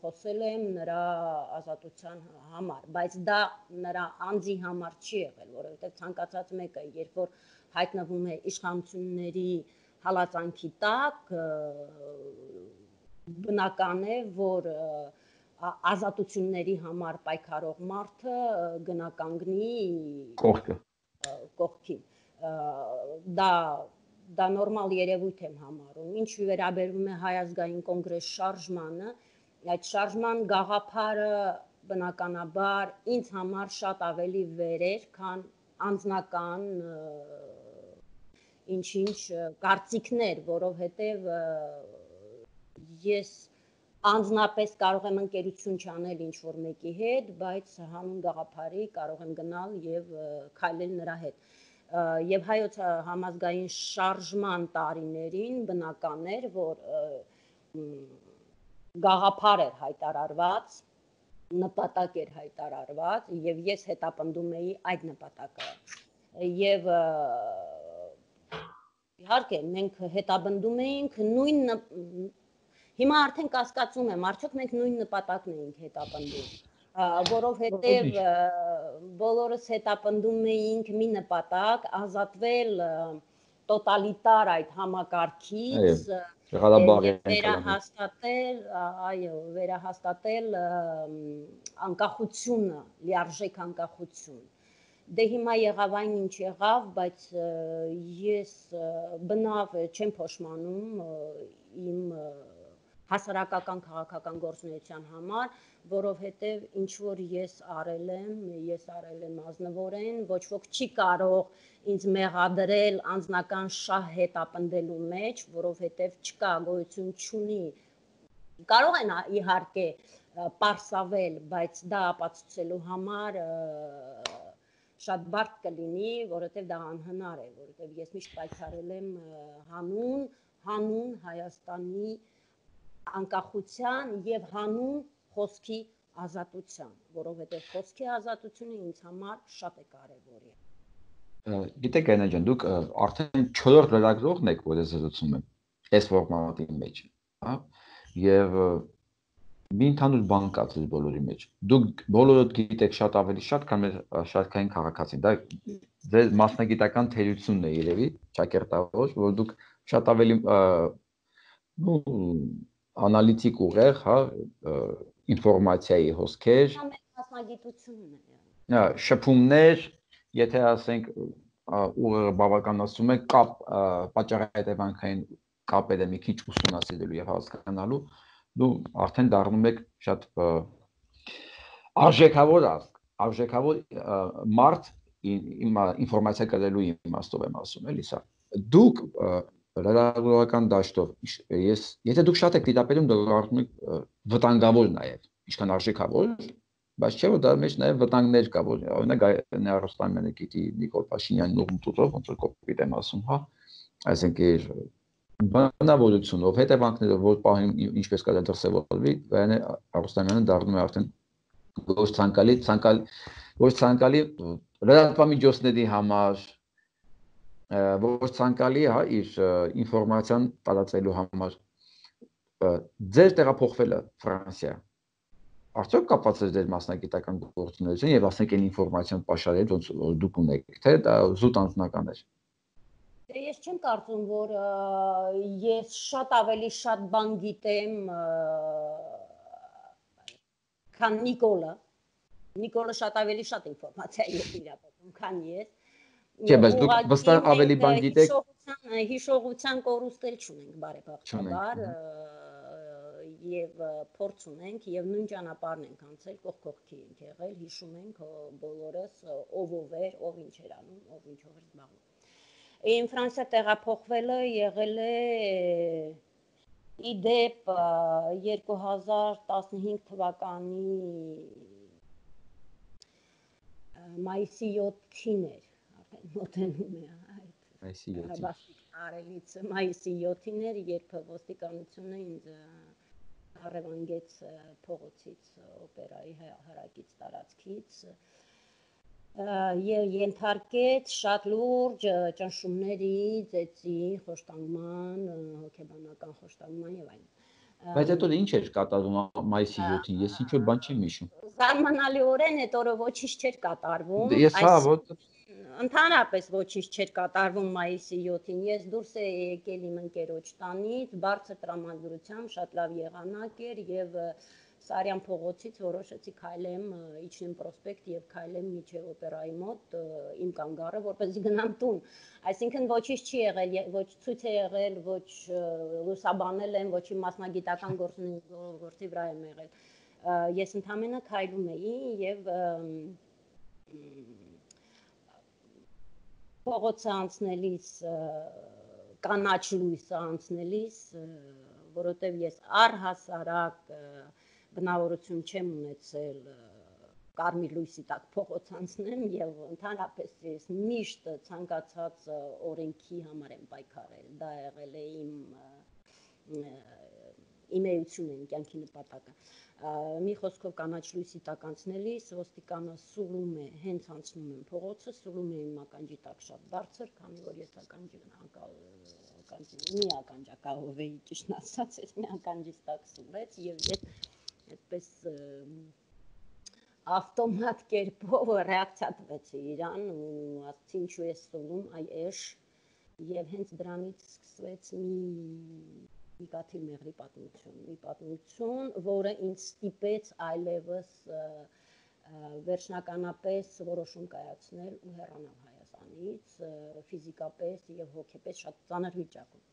խոսել եմ նրա ազատության համար, բայց դա նրա անձի համար չի եղել, որովհետև ցանկացած մեկը, երբ որ հայտնվում է իշխանությունների հալածանքի տակ, բնական է, որ ազատությունների համար պայքարող մարդը գնականգնի կողքին։ Դա նորմալ երևույթ եմ համարում։ Ինչ վերաբերում է Հայ ազգային կոնգրես շարժմանը, այդ շարժման գաղափարը բնականաբար ինձ համար շատ ավելի վեր էր, քան անձնական ինչ-ինչ կարծիքներ, որովհետև ես անձնապես կարող եմ ընկերություն չանել ինչ-որ մեկի հետ, բայց հանուն գաղափարի կարող եմ գնալ եւ քայլել նրա հետ։ Եվ հայոց համազգային շարժման տարիներին բնական էր, որ գաղափար էր հայտարարված, նպատակ էր հայտարարված եւ ես հետապնդում էի այդ նպատակը։ Եվ իհարկե մենք հետապնդում էինք նույն Հիմա արդեն կասկածում եմ, արդյոք մենք նույն նպատակն էինք հետապնդում, որովհետև բոլորս հետապնդում էինք մի նպատակ, ազատվել տոտալիտար այդ համակարգից, վերահաստատել անկախությունը, լիարժեք անկախություն։ Դե հիմա եղավ այն ինչ եղավ, բայց ես բնավ չեմ փոշմանում իմ հասարակական քաղաքական գործունեության համար, որովհետև ինչ որ ես արել եմ ազնվորեն, ոչ ոք չի կարող ինձ մեղադրել անձնական շահ հետապնդելու մեջ, որովհետև չկա գոյություն չունի։ Կարող են իհարկե պարսավել, բայց դա ապացուցելու համար շատ բարդ կլինի, որովհետև դա անհնար է, որովհետև ես միշտ պայքարել եմ հանուն Հայաստանի անկախության եւ հանուն խոսքի ազատության, որովհետեւ խոսքի ազատությունը ինձ համար շատ է կարեւոր։ Գիտեք Այնա ջան, դուք արդեն 4-րդ լրագրողն եք, որ ես զրուցում եմ այս ֆորմատի մեջ, հա? Եվ մի ընդհանուր բան կա ձեզ բոլորի մեջ։ Դուք բոլորդ գիտեք շատ ավելի շատ, քան մեր շարքային քաղաքացին։ Դա ձեր մասնագիտական թերությունն է երևի, ճակերտավոր, որ դուք շատ ավելի անալիտիկ ուղեղ, հա, ինֆորմացիայի հոսքեր, մասնագիտությունն է։ Շփումներ, եթե ասենք ուղեղը բավականացում է կապ պատճառահետևանքային կապերը մի քիչ ուսումնասիրելու եւ հասկանալու, դու արդեն դառնում եք շատ արժեքավոր մարդ ինֆորմացիա կրելու իմաստով եմ ասում, էլի սա։ Դուք լրագրողական դաշտով, եթե դուք շատ եք դիտապետում, դուք դառնում եք վտանգավոր նաեւ, ինչքան արժեքավոր, բայց չէ՞ որ դա մեջ նաեւ վտանգներ կա, որ օրինակ Գայանե Արոստամյանը գիտի Նիկոլ Փաշինյանն ուղղությունով, ոնց որ կոպիտ եմ ասում, հա, այսինքն բնավորությունով, հետևանքներով, որ պահին ինչպես կարելի դրսևորվի, Գայանե Արոստամյանը դառնում է արդեն ոչ ցանկալի լրատվամիջոցների համար, ոչ ցանկալի, հա, իր ինֆորմացիան տարածելու համար։ Ձեր տեղափոխվելը Ֆրանսիա արդյոք կապված է ձեր մասնագիտական գործունեություն եւ ասենք այն ինֆորմացիան պաշարել, ոնց որ դուք ունեք, թե դա զուտ անձնական է։ Ես չեմ կարծում, որ ես շատ ավելի շատ բան գիտեմ, քան Նիկոլը։ Նիկոլը շատ ավելի շատ ինֆորմացիա է իրապետում, քան ես։ Չէ, բայց դուք վստահ ավելի բան գիտեք։ Հիշողության կորուստ էլ չունենք բարեբախտաբար, եւ փորձ ունենք եւ նույն ճանապարհն ենք անցել, կողքի ենք եղել, հիշում ենք բոլորս ով էր, ով ինչ էր անում, ով ինչով էր զբաղվում։ Իմ Ֆրանսիա տեղափոխվելը եղել է իդեպ 2015 թվականի մայիսի 7-ին էր, արդեն մոտենում է այդ մայիսի 7-ին արելից մայիսի 7-ին էր, երբ ոստիկանությունը ինձ առևանգեց փողոցից օպերայի հարակից տարածքից եւ ենթարկեց շատ լուրջ ճնշումների, ծեծի, խոշտանգման, հոգեբանական խոշտանգման եւ այլն։ Բայց հետո ինչ էր կատարվում մայիսի 7-ին, ես ինչ-որ բան չեմ հիշում։ Զարմանալիորեն այդ օրը ոչինչ չէր կատարվում։ Ես հա ոտ Ընդհանրապես ոչինչ չէր կատարվում մայիսի 7-ին։ Ես դուրս էի եկել իմ ընկերոջ տանից, բարձր տրամադրությամբ, շատ լավ եղանակ էր եւ Սարյան փողոցից որոշեցի քայլեմ Իջնեմ պրոսպեկտ եւ քայլեմ միջև օպերայի մոտ իմ կանգառը, որպեսզի գնամ տուն։ Այսինքն ոչինչ չի եղել, ոչ ցույց է եղել, ոչ լուսաբանել եմ, ոչ իմ մասնագիտական գործի վրա եմ եղել։ Ես ընդհանրապես քայլում էի եւ փողոցը անցնելիս կանաչ լույսը անցնելիս, որովհետեւ ես առհասարակ բնավորություն չեմ ունեցել կարմիր լույսի տակ փողոց անցնեմ եւ ընդհանրապես ես միշտ ցանկացած օրենքի համար եմ պայքարել, դա եղել է իմ էությունը, իմ կյանքի նպատակը։ Մի խոսքով կանաչ լույսի տակ անցնելիս ոստիկանը սուլում է, հենց անցնում եմ փողոցը, սուլում է իմ ականջի տակ շատ բարձր, քանի որ ես մի ականջակալով էի, ճիշտ ասած, ես մի ականջից տակ սուլեց եւ ես այդպես ավտոմատ կերպով ռեակցիա տվեցի իրան ու ասացի ինչու ես սուլում, այ էշ, եւ հենց դրանից սկսվեց մի կաթիլ մեղրի պատմություն, որը ինձ ստիպեց այլևս վերջնականապես որոշում կայացնել ու հեռանալ Հայաստանից ֆիզիկապես եւ հոգեպես շատ ծանր վիճակում։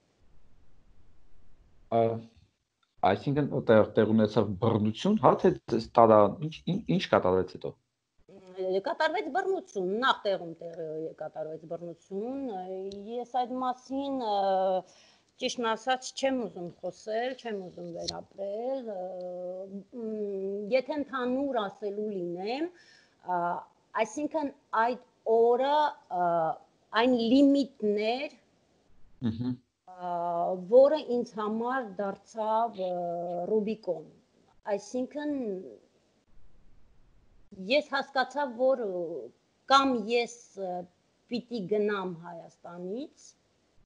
Այսինքն տեղ ունեցավ բռնություն, հա թե տարա ինչ կատարվեց հետո։ Կատարվեց բռնություն, նախ տեղում կատարվեց բռնություն, ես այդ մասին ճիշտն ասած չեմ ուզում խոսել, չեմ ուզում վերապրել, եթե ընդհանուր ասելու լինեմ, այսինքն այդ օրը այն լիմիտներ, որը ինձ համար դարձավ Ռուբիկոն, այսինքն ես հասկացա, որ կամ ես պիտի գնամ Հայաստանից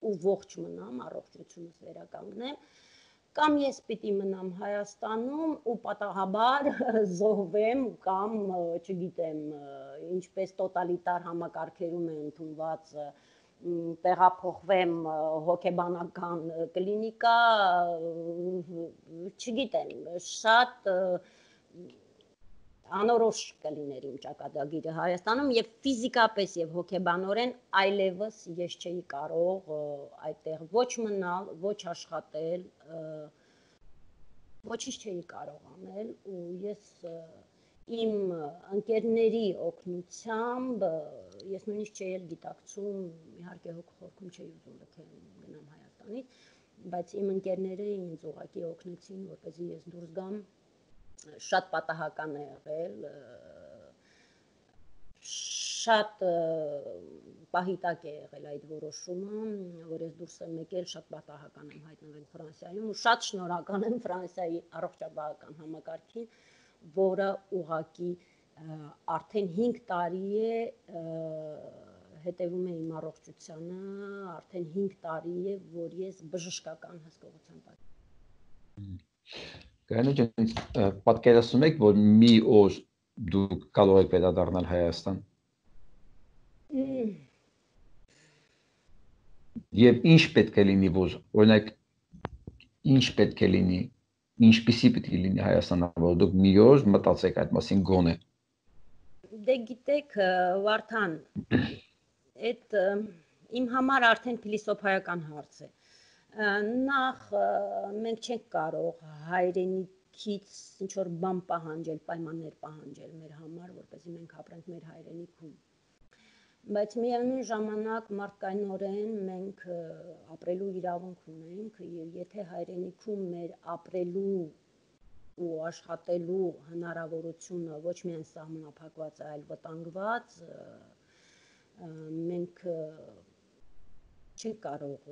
ու ողջ մնամ, առողջությունս վերականգնեմ, Կամ ես պիտի մնամ Հայաստանում ու պատահաբար զոհվեմ կամ չգիտեմ, ինչպես տոտալիտար համակարգերում է ընդունված տեղափոխվեմ հոգեբանական կլինիկա, չգիտեմ, շատ անորոշ կլիներ իմ ճակատագիրը Հայաստանում եւ ֆիզիկապես եւ հոգեբանորեն այլևս ես չէի կարող այդտեղ ոչ մնալ, ոչ աշխատել, ոչինչ չէի կարող անել ու ես իմ ընկերների օգնությամբ ես նույնիսկ չէի գիտակցում, իհարկե հոգ-խորքում չէի ուզում լքել գնամ Հայաստանից, բայց իմ ընկերները ինձ ուղղակի օգնեցին, որպեսզի ես դուրս գամ շատ պատահական է եղել, շատ պահիտակ է եղել այդ որոշումը, որ ես դուրս եմ եկել, շատ պատահական եմ հայտնվել Ֆրանսիայում ու շատ շնորհակալ եմ Ֆրանսիայի առողջապահական համակարգին, որը ուղղակի արդեն 5 տարի է հետևում է իմ առողջությանը, արդեն 5 տարի է, որ ես բժշկական հսկողության տակ։ Գայանե ջան, պատկերացնում եք, որ մի օր դուք կարող եք վերադառնալ Հայաստան։ Եվ ինչ պետք է լինի, որ օրինակ ինչ պետք է լինի, ինչպիսի պետք է լինի Հայաստանը, որ դուք մի օր մտածեք այդ մասին գոնե։ Դե գիտեք, Վարդան, այդ իմ համար արդեն փիլիսոփայական հարց է։ Նախ մենք չենք կարող հայրենիքից ինչ-որ բան պահանջել, պայմաններ պահանջել մեր համար, որպեսզի մենք ապրենք մեր հայրենիքում։ Բայց միևնույն ժամանակ մարդկայնորեն մենք ապրելու իրավունք ունենք, եւ եթե հայրենիքում մեր ապրելու ու աշխատելու հնարավորությունը ոչ միայն սահմանափակված է, այլ վտանգված, մենք չենք կարող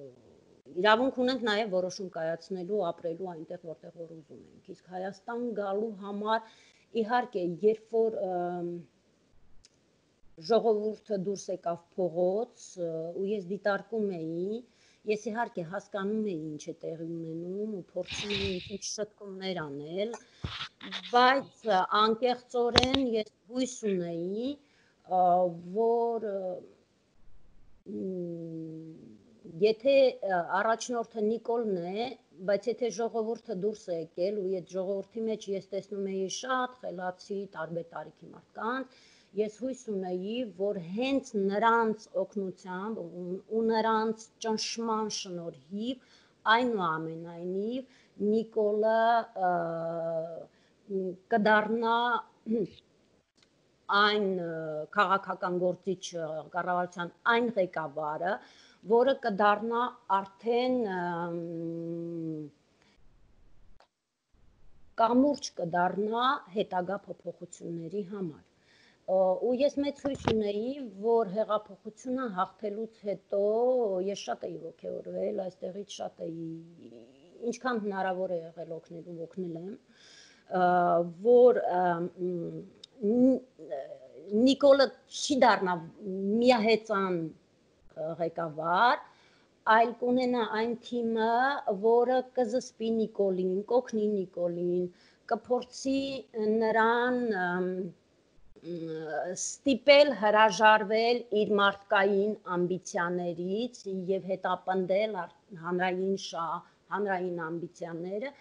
իրավունք ունենք նաև որոշում կայացնելու, ապրելու այնտեղ, որտեղ որ ուզում ենք։ Իսկ Հայաստան գալու համար իհարկե, երբ որ ժողովուրդը դուրս եկավ փողոց ու ես դիտարկում էի, ես իհարկե հասկանում էի ինչ է տեղի ունենում ու փորձում էի ինչ շտկումներ անել, բայց անկեղծորեն ես հույս ունեի, որ եթե առաջնորդը Նիկոլն է, բայց եթե ժողովուրդը դուրս է եկել ու այդ ժողովրդի մեջ ես տեսնում էի շատ խելացի տարբեր տարիքի մարդկանց, ես հույս ունեի, որ հենց նրանց օգնությամբ ու նրանց ճնշման շնորհիվ այնուամենայնիվ Նիկոլը կդառնա այն քաղաքական գործիչ կառավարության այն ղեկավարը, որը կդառնա արդեն կամուրջ կդառնա հետագա փոփոխությունների համար։ Ու ես մեծ հույս ունեի, որ հեղափոխությունը հաղթելուց հետո ես շատ էի ոգևորվել, այստեղից շատ էի, ինչքան հնարավոր է եղել օգնելու, օգնել եմ, որ Նիկոլը չի դառնա միահեծան ղեկավար, այլ կունենա այն թիմը, որը կզսպի Նիկոլին, կօգնի Նիկոլին, կփորձի նրան ստիպել հրաժարվել իր մարդկային ամբիցիաներից եւ հետապնդել հանրային ամբիցիաները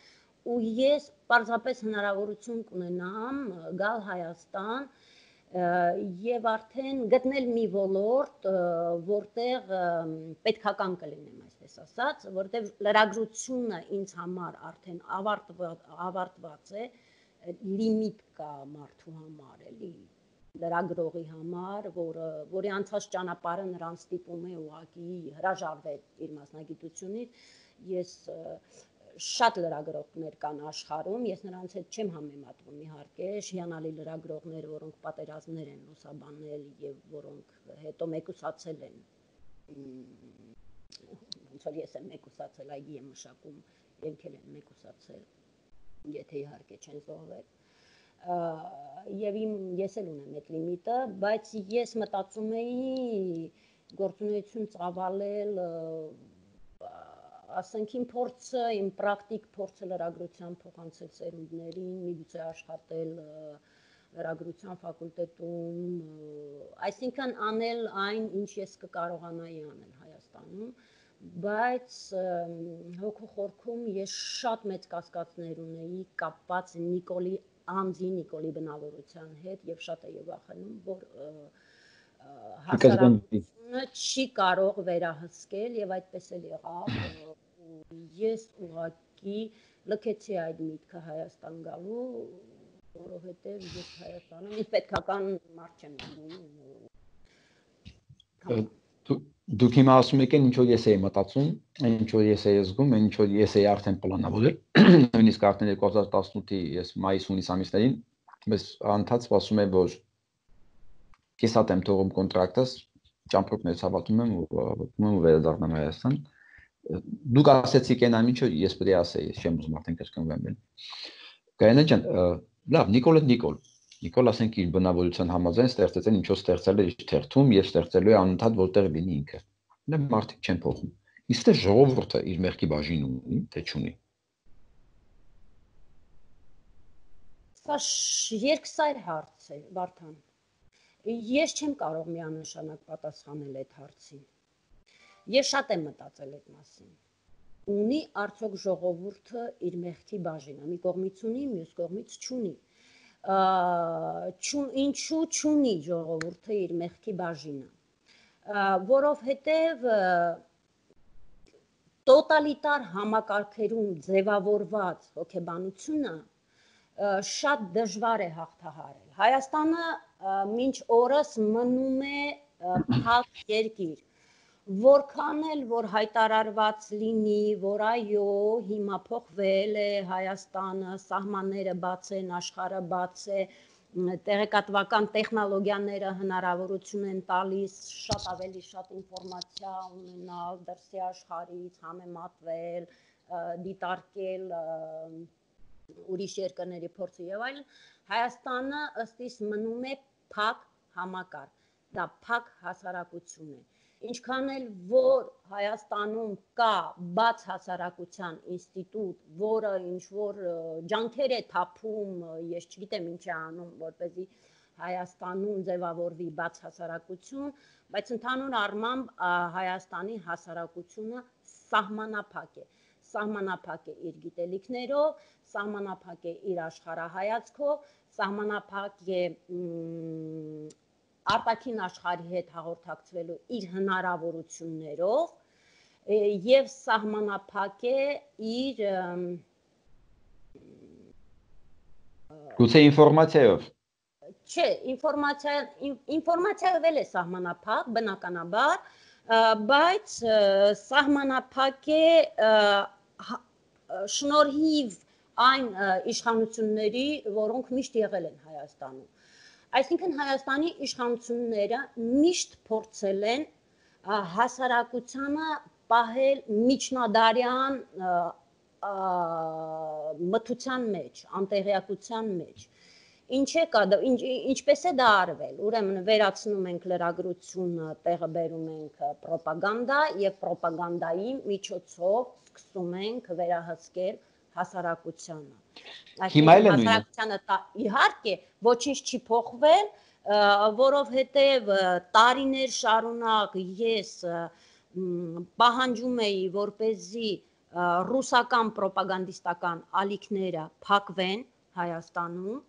ու ես պարզապես հնարավորություն կունենամ գալ Հայաստան եւ արդեն գտնել մի ոլորտ, որտեղ պետքական կլինեմ, այսպես ասած, որտեղ լրագրությունը ինձ համար արդեն ավարտված է, լիմիտ կա մարդու համար, էլի լրագրողի համար, որի անցած ճանապարհը նրան ստիպում է ուղղակի հրաժարվել իր մասնագիտությունից, ես շատ լրագրողներ կան աշխարհում, ես նրանց հետ չեմ համեմատվում իհարկե, հիանալի լրագրողներ, որոնք պատերազմներ են լուսաբանել եւ որոնք հետո մեկուսացել են, ոնց որ ես եմ մեկուսացել, այգի եմ մշակում, իրենք էլ են մեկուսացել, եթե իհարկե չեն զոհվել, եւ ես էլ ունեմ այդ լիմիտը, բայց ես մտածում էի գործունեություն ծավալել ասենք իմ փորձը, իմ պրակտիկ փորձը լրագրության փոխանցել սերունդներին, միգուցե աշխատել լրագրության ֆակուլտետում, այսինքն անել այն, ինչ ես կկարողանայի անել Հայաստանում, բայց հոգու խորքում ես շատ մեծ կասկածներ ունեի կապված Նիկոլի անձի, Նիկոլի բնավորության հետ եւ շատ էի վախենում, որ հասարակությունը չի կարող վերահսկել եւ այդպես էլ եղավ։ Ես ուղղակի լքեցի այդ միտքը Հայաստան գալու, որովհետեւ ես Հայաստանում ինձ պետքական մարդ չեմ զգում։ Դուք հիմա ասում եք, ինչ որ ես էի մտածում, ինչ որ ես էի զգում, ինչ որ ես էի արդեն պլանավորել, նույնիսկ արդեն 2018-ի ես մայիս-հունիս ամիսներին, ես անդադ սպասում եմ, որ ես հատ եմ թողում կոնտրակտս, ճամփորդներից հավատում եմ ու վերադառնամ Հայաստան։ Դուք ասեցիք այն ինչ որ ես պետք է ասեի, չեմ ուզում արդեն կրկնվեմ։ Գայանե ջան, լավ, Նիկոլ ասենք իր բնավորության համաձայն ստեղծեց այն ինչ որ ստեղծել է իր թերթում եւ ստեղծելու է անընդհատ որտեղ լինի ինքը։ Նա մարդիկ չեն փոխում։ Իսկ թե ժողովուրդը իր մեղքի բաժին ունի, թե չունի։ Սա երկսայր հարց է, Վարդան։ Ես չեմ կարող միանշանակ պատասխանել այդ հարցին։ Ես շատ եմ մտածել այդ մասին։ Ունի արդյոք ժողովուրդը իր մեղքի բաժինը, մի կողմից ունի, մյուս կողմից չունի։ Ինչու չունի ժողովուրդը իր մեղքի բաժինը, որովհետև տոտալիտար համակարգերում ձևավորված հոգեբանությունը շատ դժվար է հաղթահարել։ Հայաստանը մինչ օրս մնում է փակ երկիր, որքան էլ որ հայտարարված լինի, որ այո, հիմա փոխվել է Հայաստանը, սահմանները բաց են, աշխարհը բաց է, տեղեկատվական տեխնոլոգիաները հնարավորություն են տալիս շատ ավելի շատ ինֆորմացիա ունենալ դրսի աշխարհից, համեմատվել, դիտարկել ուրիշ երկրների փորձը եւ այլն, Հայաստանը ըստ իս մնում է փակ համակարգ, դա փակ հասարակություն է։ Ինչքան էլ որ Հայաստանում կա բաց հասարակության ինստիտուտ, որը ինչ որ ջանքեր է թափում, ես չգիտեմ ինչ է անում, որպեսզի Հայաստանում ձևավորվի բաց հասարակություն, բայց ընդհանուր առմամբ Հայաստանի հասարակությունը սահմանափակ է։ Սահմանափակ է իր գիտելիքներով, սահմանափակ է իր աշխարհայացքով, սահմանափակ է արտաքին աշխարհի հետ հաղորդակցվելու իր հնարավորություններով եւ սահմանափակ է իր գուցե ինֆորմացիայով։ Չէ, ինֆորմացիայով էլ է սահմանափակ, բնականաբար, բայց սահմանափակ է շնորհիվ այն իշխանությունների, որոնք միշտ եղել են Հայաստանում։ Այսինքն Հայաստանի իշխանությունները միշտ փորձել են հասարակությանը պահել միջնադարյան մթության մեջ, անտեղյակության մեջ։ Ինչպես է դա արվել, ուրեմն վերացնում ենք լրագրությունը, տեղը բերում ենք պրոպագանդա եւ պրոպագանդայի միջոցով սկսում ենք վերահսկել հասարակությանը։ Հիմա էլ է նույնը։ Հասարակությանը իհարկե ոչինչ չի փոխվել, որովհետեւ տարիներ շարունակ ես պահանջում էի, որպեսզի ռուսական պրոպագանդիստական ալիքները փակվեն Հայաստանում,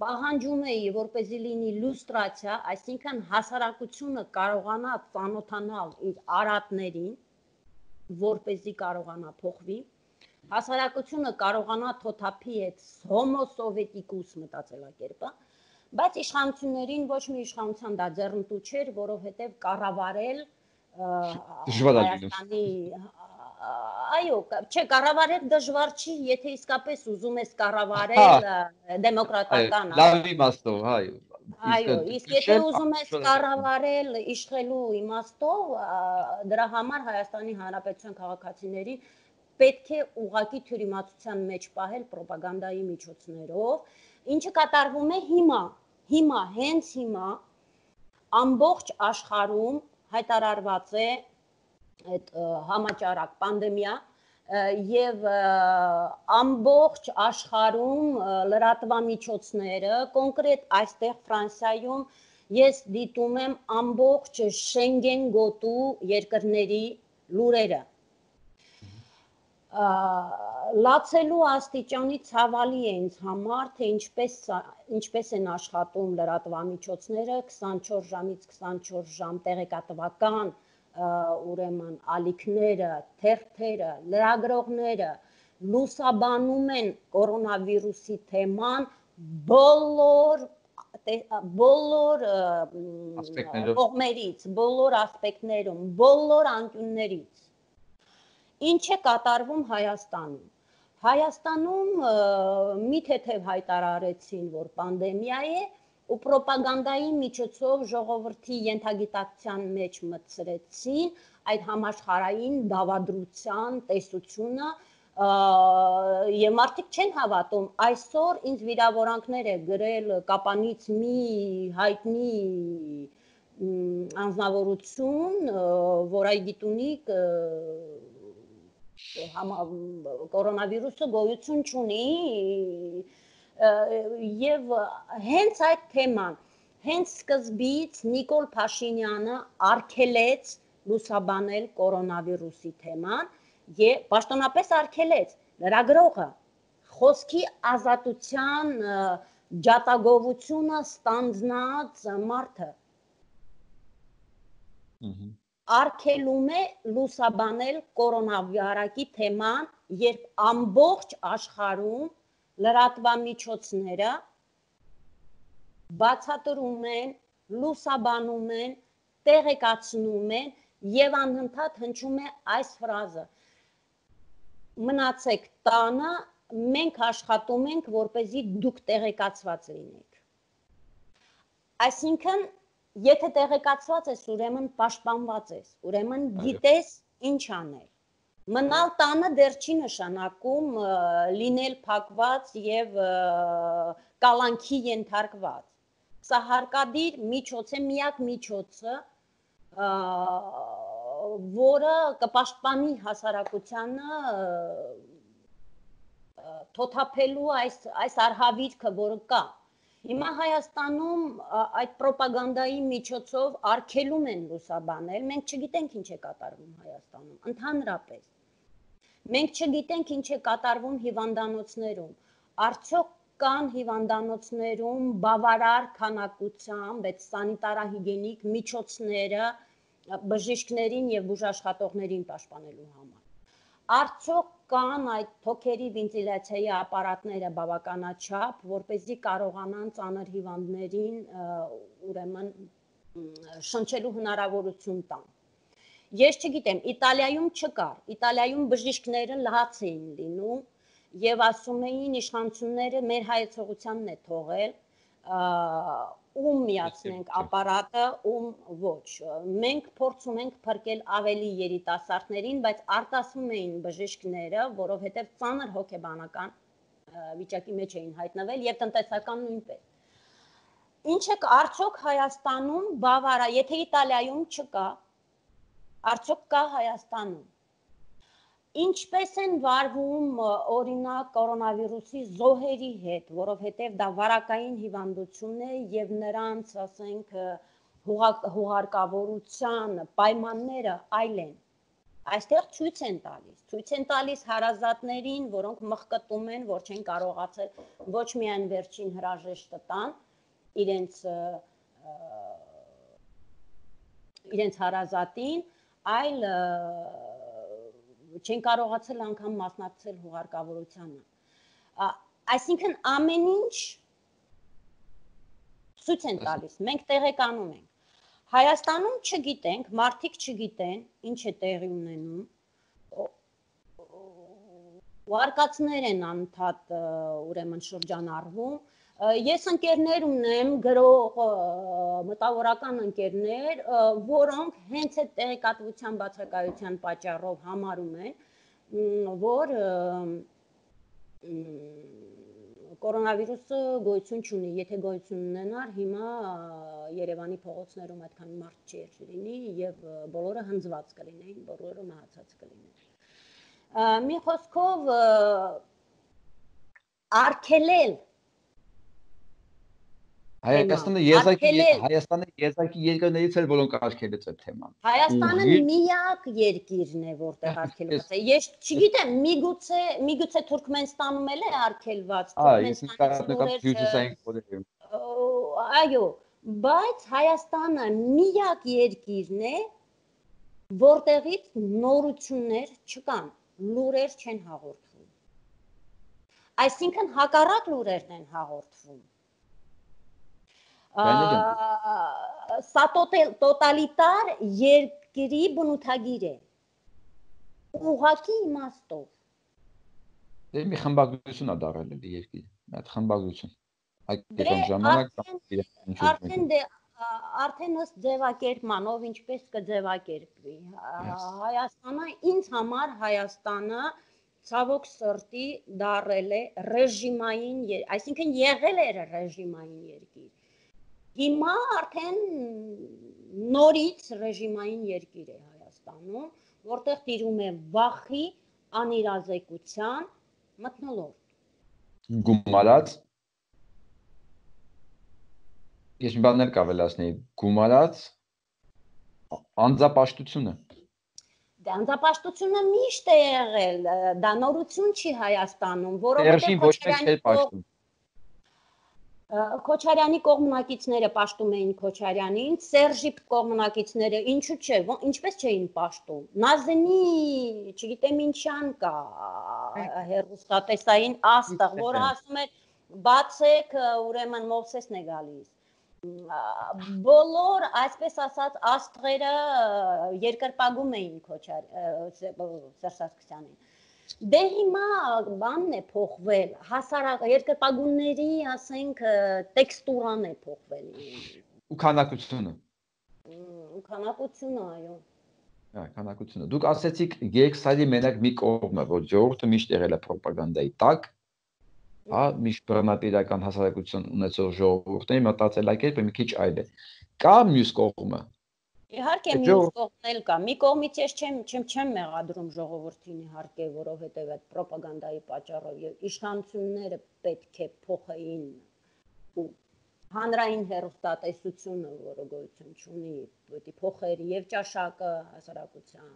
պահանջում էի, որպեսզի լինի լուստրացիա, այսինքն հասարակությունը կարողանա ծանոթանալ իր արատներին, որպեսզի կարողանա փոխվի, հասարակությունը կարողանա թոթափի այդ homo sovieticus մտածելակերպը, բայց իշխանություններին ոչ մի իշխանության դա ձեռնտու չէր, որովհետև կառավարել Հայաստանի այո, չէ, կառավարել դժվար չի, եթե իսկապես ուզում ես կառավարել դեմոկրատական լավ իմաստով, այո։ Այո, իսկ եթե ուզում ես կառավարել իշխելու իմաստով, դրա համար Հայաստանի Հանրապետության քաղաքացիներին պետք է ուղղակի թյուրիմացության մեջ պահել պրոպագանդայի միջոցներով, ինչը կատարվում է հենց հիմա ամբողջ աշխարհում հայտարարված է այդ համաճարակ պանդեմիա եւ ամբողջ աշխարհում լրատվամիջոցները, կոնկրետ այստեղ Ֆրանսիայում ես դիտում եմ ամբողջ Շենգեն գոտու երկրների լուրերը։ Լացելու աստիճանի ցավալի է ինձ համար, թե ինչպես են աշխատում լրատվամիջոցները 24 ժամից 24 ժամ տեղեկատվական ուրեմն ալիքները, թերթերը, լրագրողները լուսաբանում են կորոնավիրուսի թեման բոլոր կողմերից, բոլոր ասպեկտներում, բոլոր անկյուններից։ Ինչ է կատարվում Հայաստանում։ Հայաստանում մի թեթև հայտարարեցին, որ պանդեմիա է, ու պրոպագանդայի միջոցով ժողովրդի ենթագիտակցության մեջ մտցրեցին այդ համաշխարհային դավադրության տեսությունը, եւ մարդիկ չեն հավատում, այսօր ինձ վիրավորանքներ է գրել Կապանից մի հայտնի անձնավորություն, որ այ գիտունիկ կորոնավիրուսը գոյություն չունի եւ հենց այդ թեման, հենց սկզբից Նիկոլ Փաշինյանը արգելեց լուսաբանել կորոնավիրուսի թեման եւ պաշտոնապես արգելեց լրագրողը խոսքի ազատության ջատագովությունը ստանձնած մարդը արգելում է լուսաբանել կորոնավիրուսի թեման, երբ ամբողջ աշխարհում լրատվամիջոցները բացատրում են, լուսաբանում են, տեղեկացնում են եւ անընդհատ հնչում է այս ֆրազը. մնացեք տանը, մենք աշխատում ենք, որպեսզի դուք տեղեկացված լինեք։ Այսինքն եթե տեղեկացված ես, ուրեմն պաշտպանված ես, ուրեմն գիտես ինչ անել։ Մնալ տանը դեռ չի նշանակում լինել փակված եւ կալանքի ենթարկված։ Սա հարկադիր միջոց է, միակ միջոցը, որը կպաշտպանի հասարակությանը թոթափելու այս արհավիրքը, որը կա։ Հիմա Հայաստանում այդ պրոպագանդայի միջոցով արգելում են լուսաբանել, մենք չգիտենք ինչ է կատարվում Հայաստանում, ընդհանրապես։ Մենք չգիտենք ինչ է կատարվում հիվանդանոցներում, արդյոք կան հիվանդանոցներում բավարար քանակությամբ այդ սանիտարահիգիենիկ միջոցները բժիշկներին եւ բուժաշխատողներին պաշտպանելու համար։ Արդյոք կան այդ թոքերի վենտիլյացիայի ապարատները բավականաչափ, որպեսզի կարողանան ծանր հիվանդներին ուրեմն շնչելու հնարավորություն տան։ Ես չգիտեմ, Իտալիայում չկար, Իտալիայում բժիշկները լաց էին լինում եւ ասում էին իշխանությունները մեր հայեցողությանն է թողել, ում միացնենք ապարատը, ում ոչ։ Մենք փորձում ենք փրկել ավելի երիտասարդներին, բայց արտասվում էին բժիշկները, որովհետև ծանր հոգեբանական վիճակի մեջ էին հայտնվել եւ տնտեսական նույնպես։ Ինչ է արդյոք Հայաստանում բավարար, եթե Իտալիայում չկա, արդյոք կա Հայաստանում։ Ինչպես են վարվում օրինակ կորոնավիրուսի զոհերի հետ, որովհետև դա վարակային հիվանդություն է եւ նրանց, ասենք, հուղարկավորության պայմանները այլ են։ Այստեղ ցույց են տալիս հարազատներին, որոնք մխկտում են, որ չեն կարողացել ոչ միայն վերջին հրաժեշտը տան իրենց հարազատին, այլ չեն կարողացել անգամ մասնակցել հուղարկավորությանը։ Այսինքն ամեն ինչ ցույց են տալիս, մենք տեղեկանում ենք։ Հայաստանում չգիտենք, մարդիկ չգիտեն, ինչ է տեղի ունենում։ Վարկածներ են անընդհատ ուրեմն շրջանառվում։ Ես ընկերներ ունեմ, գրող մտավորական ընկերներ, որոնք հենց այդ տեղեկատվության բացակայության պատճառով համարում են, որ կորոնավիրուսը գոյություն չունի, եթե գոյություն ունենար, հիմա Երևանի փողոցներում այդքան մարդ չէր լինի եւ բոլորը հնձված կլինեին, բոլորը մահացած կլինեին։ Մի խոսքով արգելել Հայաստանը եզակի երկրներից էր, որոնք արգելեց այդ թեման։ Հայաստանը միակ երկիրն է, որտեղ արգելված է։ Ես չգիտեմ, միգուցե Թուրքմենստանում էլ է արգելված, այո, բայց Հայաստանը միակ երկիրն է, որտեղից նորություններ չկան, լուրեր չեն հաղորդվում։ Այսինքն հակառակ լուրերն են հաղորդվում։ Սա տոտալիտար երկրի բնութագիր է, ուղղակի իմաստով։ Դե մի խմբագրություն է դարել էլի երկիրը, այդ խմբագրություն։ Այդ ժամանակ արդեն ըստ ձևակերպմանով ինչպես կձևակերպվի Հայաստանը, ինձ համար Հայաստանը ցավոք սրտի դարել է ռեժիմային, այսինքն եղել էր ռեժիմային երկիր։ Հիմա արդեն նորից ռեժիմային երկիր է Հայաստանում, որտեղ տիրում է վախի, անիրազեկության մթնոլորտ։ Գումարած Ես մի բաներ կավելացնեի, գումարած անձապաշտությունը։ Դե անձապաշտությունը միշտ է եղել, դա նորություն չի Հայաստանում, որովհետև ոչ մեկ չէր պաշտում։ Քոչարյանի կողմնակիցները պաշտում էին Քոչարյանին, Սերժի կողմնակիցները ինչու՞ չէ, ինչպես չէին պաշտում։ Նազենի, չգիտեմ ինչյան կա, հեռուստատեսային աստղ, որը ասում էր բացեք, ուրեմն Մովսեսն է գալիս։ Բոլոր, այսպես ասած, աստղերը երկրպագում էին Սերժ Սարգսյանին։ Դե հիմա բանն է փոխվել, երկրպագունների, ասենք, տեքստուրան է փոխվել։ Ու քանակությունը։ Քանակությունը, այո։ Քանակությունը։ Դուք ասեցիք երկսայլի մենակ մի կողմը, որ ժողովուրդը միշտ եղել է պրոպագանդայի տակ, հա, միշտ բռնատիրական հասարակություն ունեցող ժողովուրդների մտածելակերպը մի քիչ այլ է։ Կա մյուս կողմը։ Իհարկե մյուս կողմն էլ կա։ Մի կողմից ես չեմ մեղադրում ժողովրդին, իհարկե, որովհետև այդ պրոպագանդայի պատճառով եւ իշխանությունները պետք է փոխեին ու հանրային հեռուստատեսությունը, որը գոյություն ունի, պետք է փոխեր եւ ճաշակը հասարակության,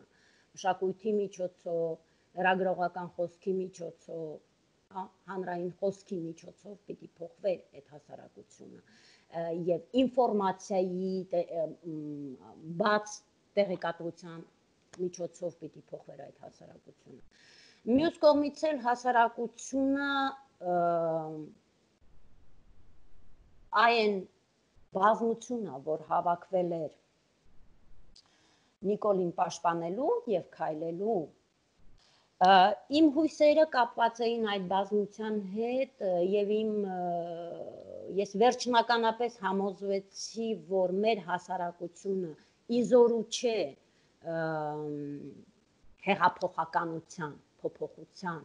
մշակույթի միջոցով, լրագրողական խոսքի միջոցով, հանրային խոսքի միջոցով պետք է փոխվեր այդ հասարակությունը եւ ինֆորմացիայի բաց տեղեկատվության միջոցով պետք է փոխվեր այդ հասարակությունը։ Մյուս կողմից էլ հասարակությունը այն բազմությունն, որ հավաքվել էր Նիկոլին պաշտպանելու եւ քայլելու, իմ հույսերը կապված էին այդ բազմության հետ եւ ես վերջնականապես համոզվեցի, որ մեր հասարակությունը իզորու չէ հեղափոխականության, փոփոխության։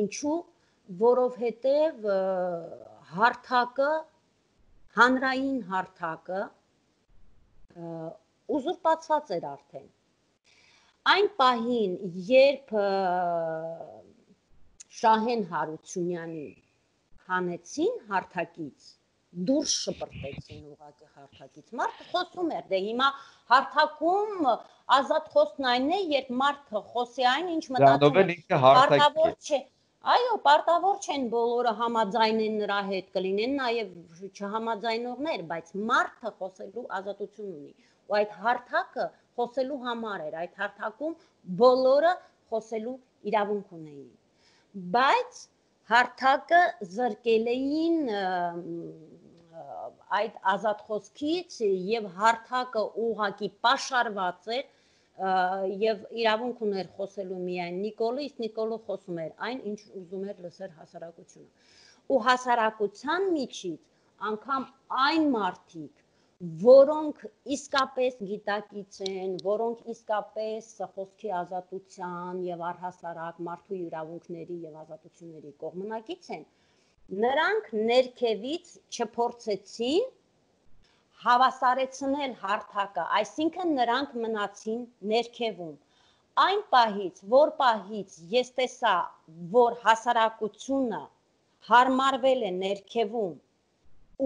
Ինչու՞, որովհետև հարթակը, հանրային հարթակը ուզուրպացված էր արդեն։ Այն պահին, երբ Շահեն Հարությունյանի հանեցին հարթակից, դուրս շպրտեցին ուղղակի հարթակից, մարդը խոսում էր, դե հիմա հարթակում ազատ խոսքն այն է, երբ մարդը խոսի այն, ինչ մտածում է, պարտավոր չէ։ Այո, պարտավոր չեն բոլորը համաձայնեն նրա հետ, կլինեն նաև չհամաձայնողներ, բայց մարդը խոսելու ազատություն ունի։ Ու այդ հարթակը խոսելու համար էր, այդ հարթակում բոլորը խոսելու իրավունք ունեին։ Բայց հարթակը զրկել էին այդ ազատ խոսքից եւ հարթակը ուղղակի պաշարված էր եւ իրավունք ուներ խոսելու միայն Նիկոլը, իսկ Նիկոլը խոսում էր այն, ինչ ուզում էր լսել հասարակությունը։ Ու հասարակության միջից անգամ այն մարդիկ, որոնք իսկապես գիտակից են, որոնք իսկապես խոսքի ազատության եւ առհասարակ մարդու իրավունքների եւ ազատությունների կողմնակից են, Նրանք ներքևից չփորձեցին հավասարեցնել հարթակը, այսինքն նրանք մնացին ներքևում։ Այն պահից, որ պահից ես տեսա, որ հասարակությունը հարմարվել է ներքևում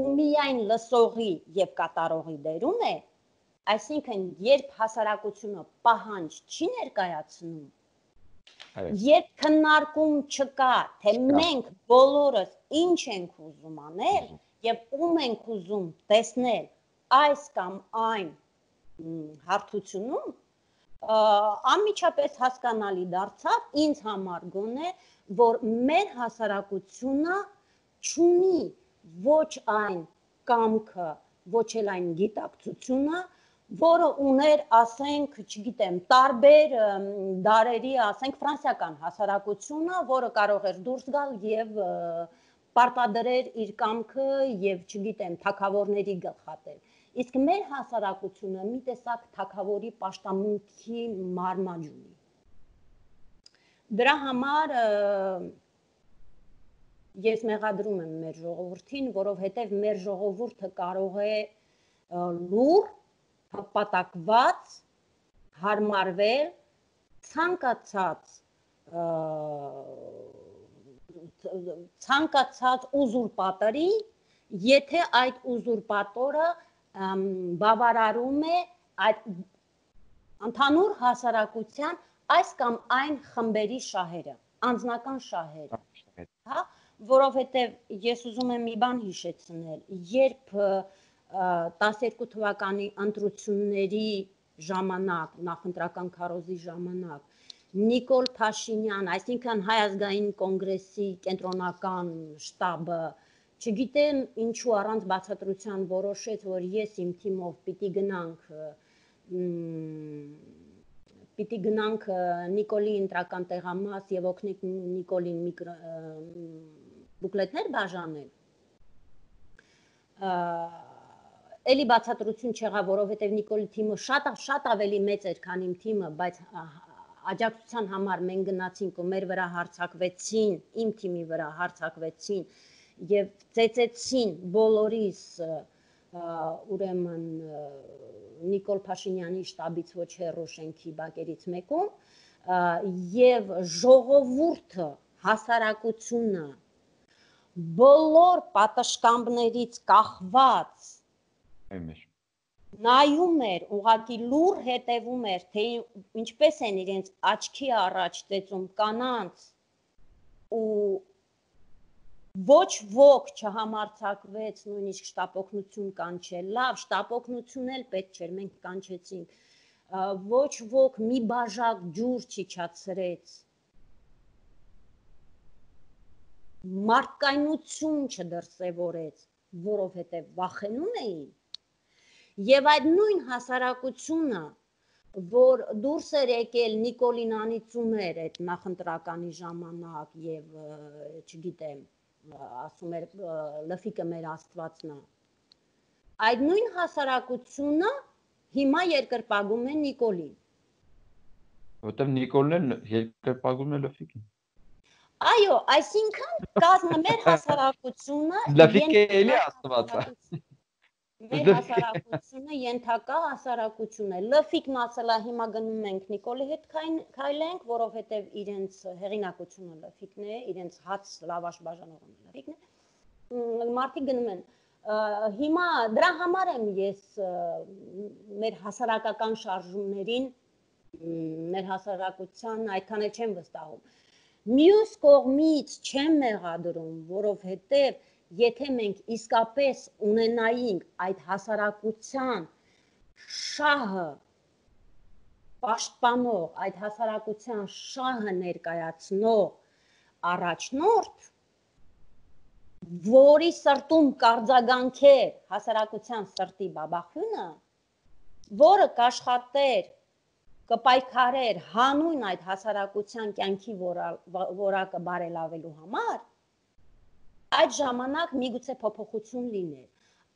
ու միայն լսողի եւ կատարողի դերում է, այսինքն երբ հասարակությունը պահանջ չի ներկայացնում, երբ քննարկում չկա, թե մենք բոլորս ինչ ենք ուզում անել եւ ում ենք ուզում տեսնել այս կամ այն հարթությունում, անմիջապես հասկանալի դարձավ ինձ համար գոնե, որ մեր հասարակությունը չունի ոչ այն կամքը, ոչ էլ այն գիտակցությունը, որը ուներ, ասենք, չգիտեմ, տարբեր դարերի, ասենք, ֆրանսիական հասարակությունը, որը կարող էր դուրս գալ եւ պարտադրեր իր կամքը եւ, չգիտեմ, թագավորների գլխատել։ Իսկ մեր հասարակությունը մի տեսակ թագավորի պաշտամունքի մարմաջ ունի։ Դրա համար ես մեղադրում եմ մեր ժողովրդին, որովհետեւ մեր ժողովուրդը կարող է լուր հպատակված, հարմարվել, ցանկացած ուզուրպատորի, եթե այդ ուզուրպատորը բավարարում է այդ ընդհանուր հասարակության այս կամ այն խմբերի շահերը, անձնական շահերը, հա, որովհետև ես ուզում եմ մի բան հիշեցնել, երբ 12 թվականի ընտրությունների ժամանակ, նախընտրական քարոզի ժամանակ, Նիկոլ Փաշինյան, այսինքն Հայ ազգային կոնգրեսի կենտրոնական շտաբը, չգիտեմ ինչու առանց բացատրության որոշեց, որ ես իմ թիմով պիտի գնանք Նիկոլի ընտրական տեղամաս եւ օգնենք Նիկոլին բուկլետներ բաժանել, էլի բացատրություն չեղավ, որովհետև Նիկոլի թիմը շատ ավելի մեծ էր, քան իմ թիմը, բայց աջակցության համար մենք գնացինք ու մեր վրա հարձակվեցին, իմ թիմի վրա հարձակվեցին եւ ծեծեցին բոլորիս ուրեմն Նիկոլ Փաշինյանի շտաբից ոչ հեռու շենքի բակերից մեկում եւ ժողովուրդը, հասարակությունը բոլոր պատշգամբներից կախված նայում էր, ուղղակի լուր հետևում էր, թե ինչպես են իրենց աչքի առաջ ծեծում կանանց ու ոչ ոք չհամարձակվեց նույնիսկ շտապօգնություն կանչել, լավ, շտապօգնություն էլ պետք չէր, մենք կանչեցինք, ոչ ոք մի բաժակ ջուր չիջացրեց, մարդկայնություն չդրսևորեց, որովհետև վախենում էին, եւ այդ նույն հասարակությունը, որ դուրս էր եկել Նիկոլին անիծում էր այդ նախընտրականի ժամանակ եւ չգիտեմ, ասում էր լֆիկը մեր աստվածն է, այդ նույն հասարակությունը հիմա երկրպագում է Նիկոլին։ Որտեւ Նիկոլն էլ երկրպագում է լֆիկին։ Այո, այսինքն կազմը մեր հասարակությունը լֆիկը էլի աստված է։ Մեր հասարակությունը ենթակա հասարակություն է։ Լֆիկն ասել է հիմա գնում ենք Նիկոլի հետ քայլենք, որովհետև իրենց հեղինակությունը լֆիկն է, իրենց հաց լավաշ բաժանողը լֆիկն է։ Մարդիկ գնում են։ Հիմա դրա համար եմ ես մեր հասարակական շարժումներին, մեր հասարակության այդքան էլ չեմ վստահում։ Մյուս կողմից չեմ մեղադրում, որովհետև եթե մենք իսկապես ունենայինք այդ հասարակության շահը պաշտպանող, այդ հասարակության շահը ներկայացնող առաջնորդ, որի սրտում կարձագանքեր հասարակության սրտի բաբախյունը, որը կաշխատեր, կպայքարեր հանուն այդ հասարակության կյանքի որակը բարելավելու համար, այդ ժամանակ միգուցե փոփոխություն լիներ։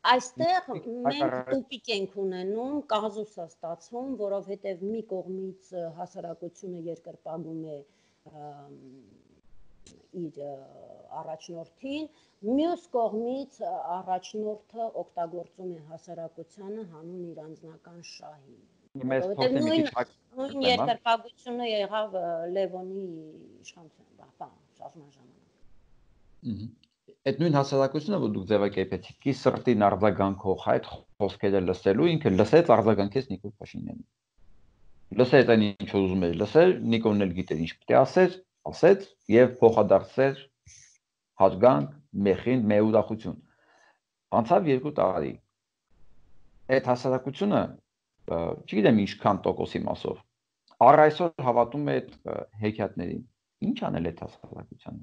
Այստեղ մենք տուպիկ ենք ունենում, կազուս է ստացվում, որովհետև մի կողմից հասարակությունը երկրպագում է իր առաջնորդին, մյուս կողմից առաջնորդը օգտագործում է հասարակությանը հանուն իր անձնական շահի։ Որովհետև նույն երկրպագությունը եղավ Լևոնի իշխանության շարժման ժամանակ։ Այդ նույն հասարակությունը, որ դուք ձևակերպեցիք, ի սրտի արձագանքող այդ խոսքերը լսելու, ինքը լսեց արձագանքեց Նիկոլ Փաշինյանին։ Լսեց այն ինչ ուզում էր լսել, Նիկոլն էլ գիտեր ինչ պետք է ասեց եւ փոխադարձեց հարգանք, մեխին, մեուրախություն։ Անցավ 2 տարի։ Այդ հասարակությունը, չգիտեմ ինչքան տոկոսի մասով, առ այսօր հավատում է այդ հեքիաթներին։ Ինչ անել այդ հասարակությանը։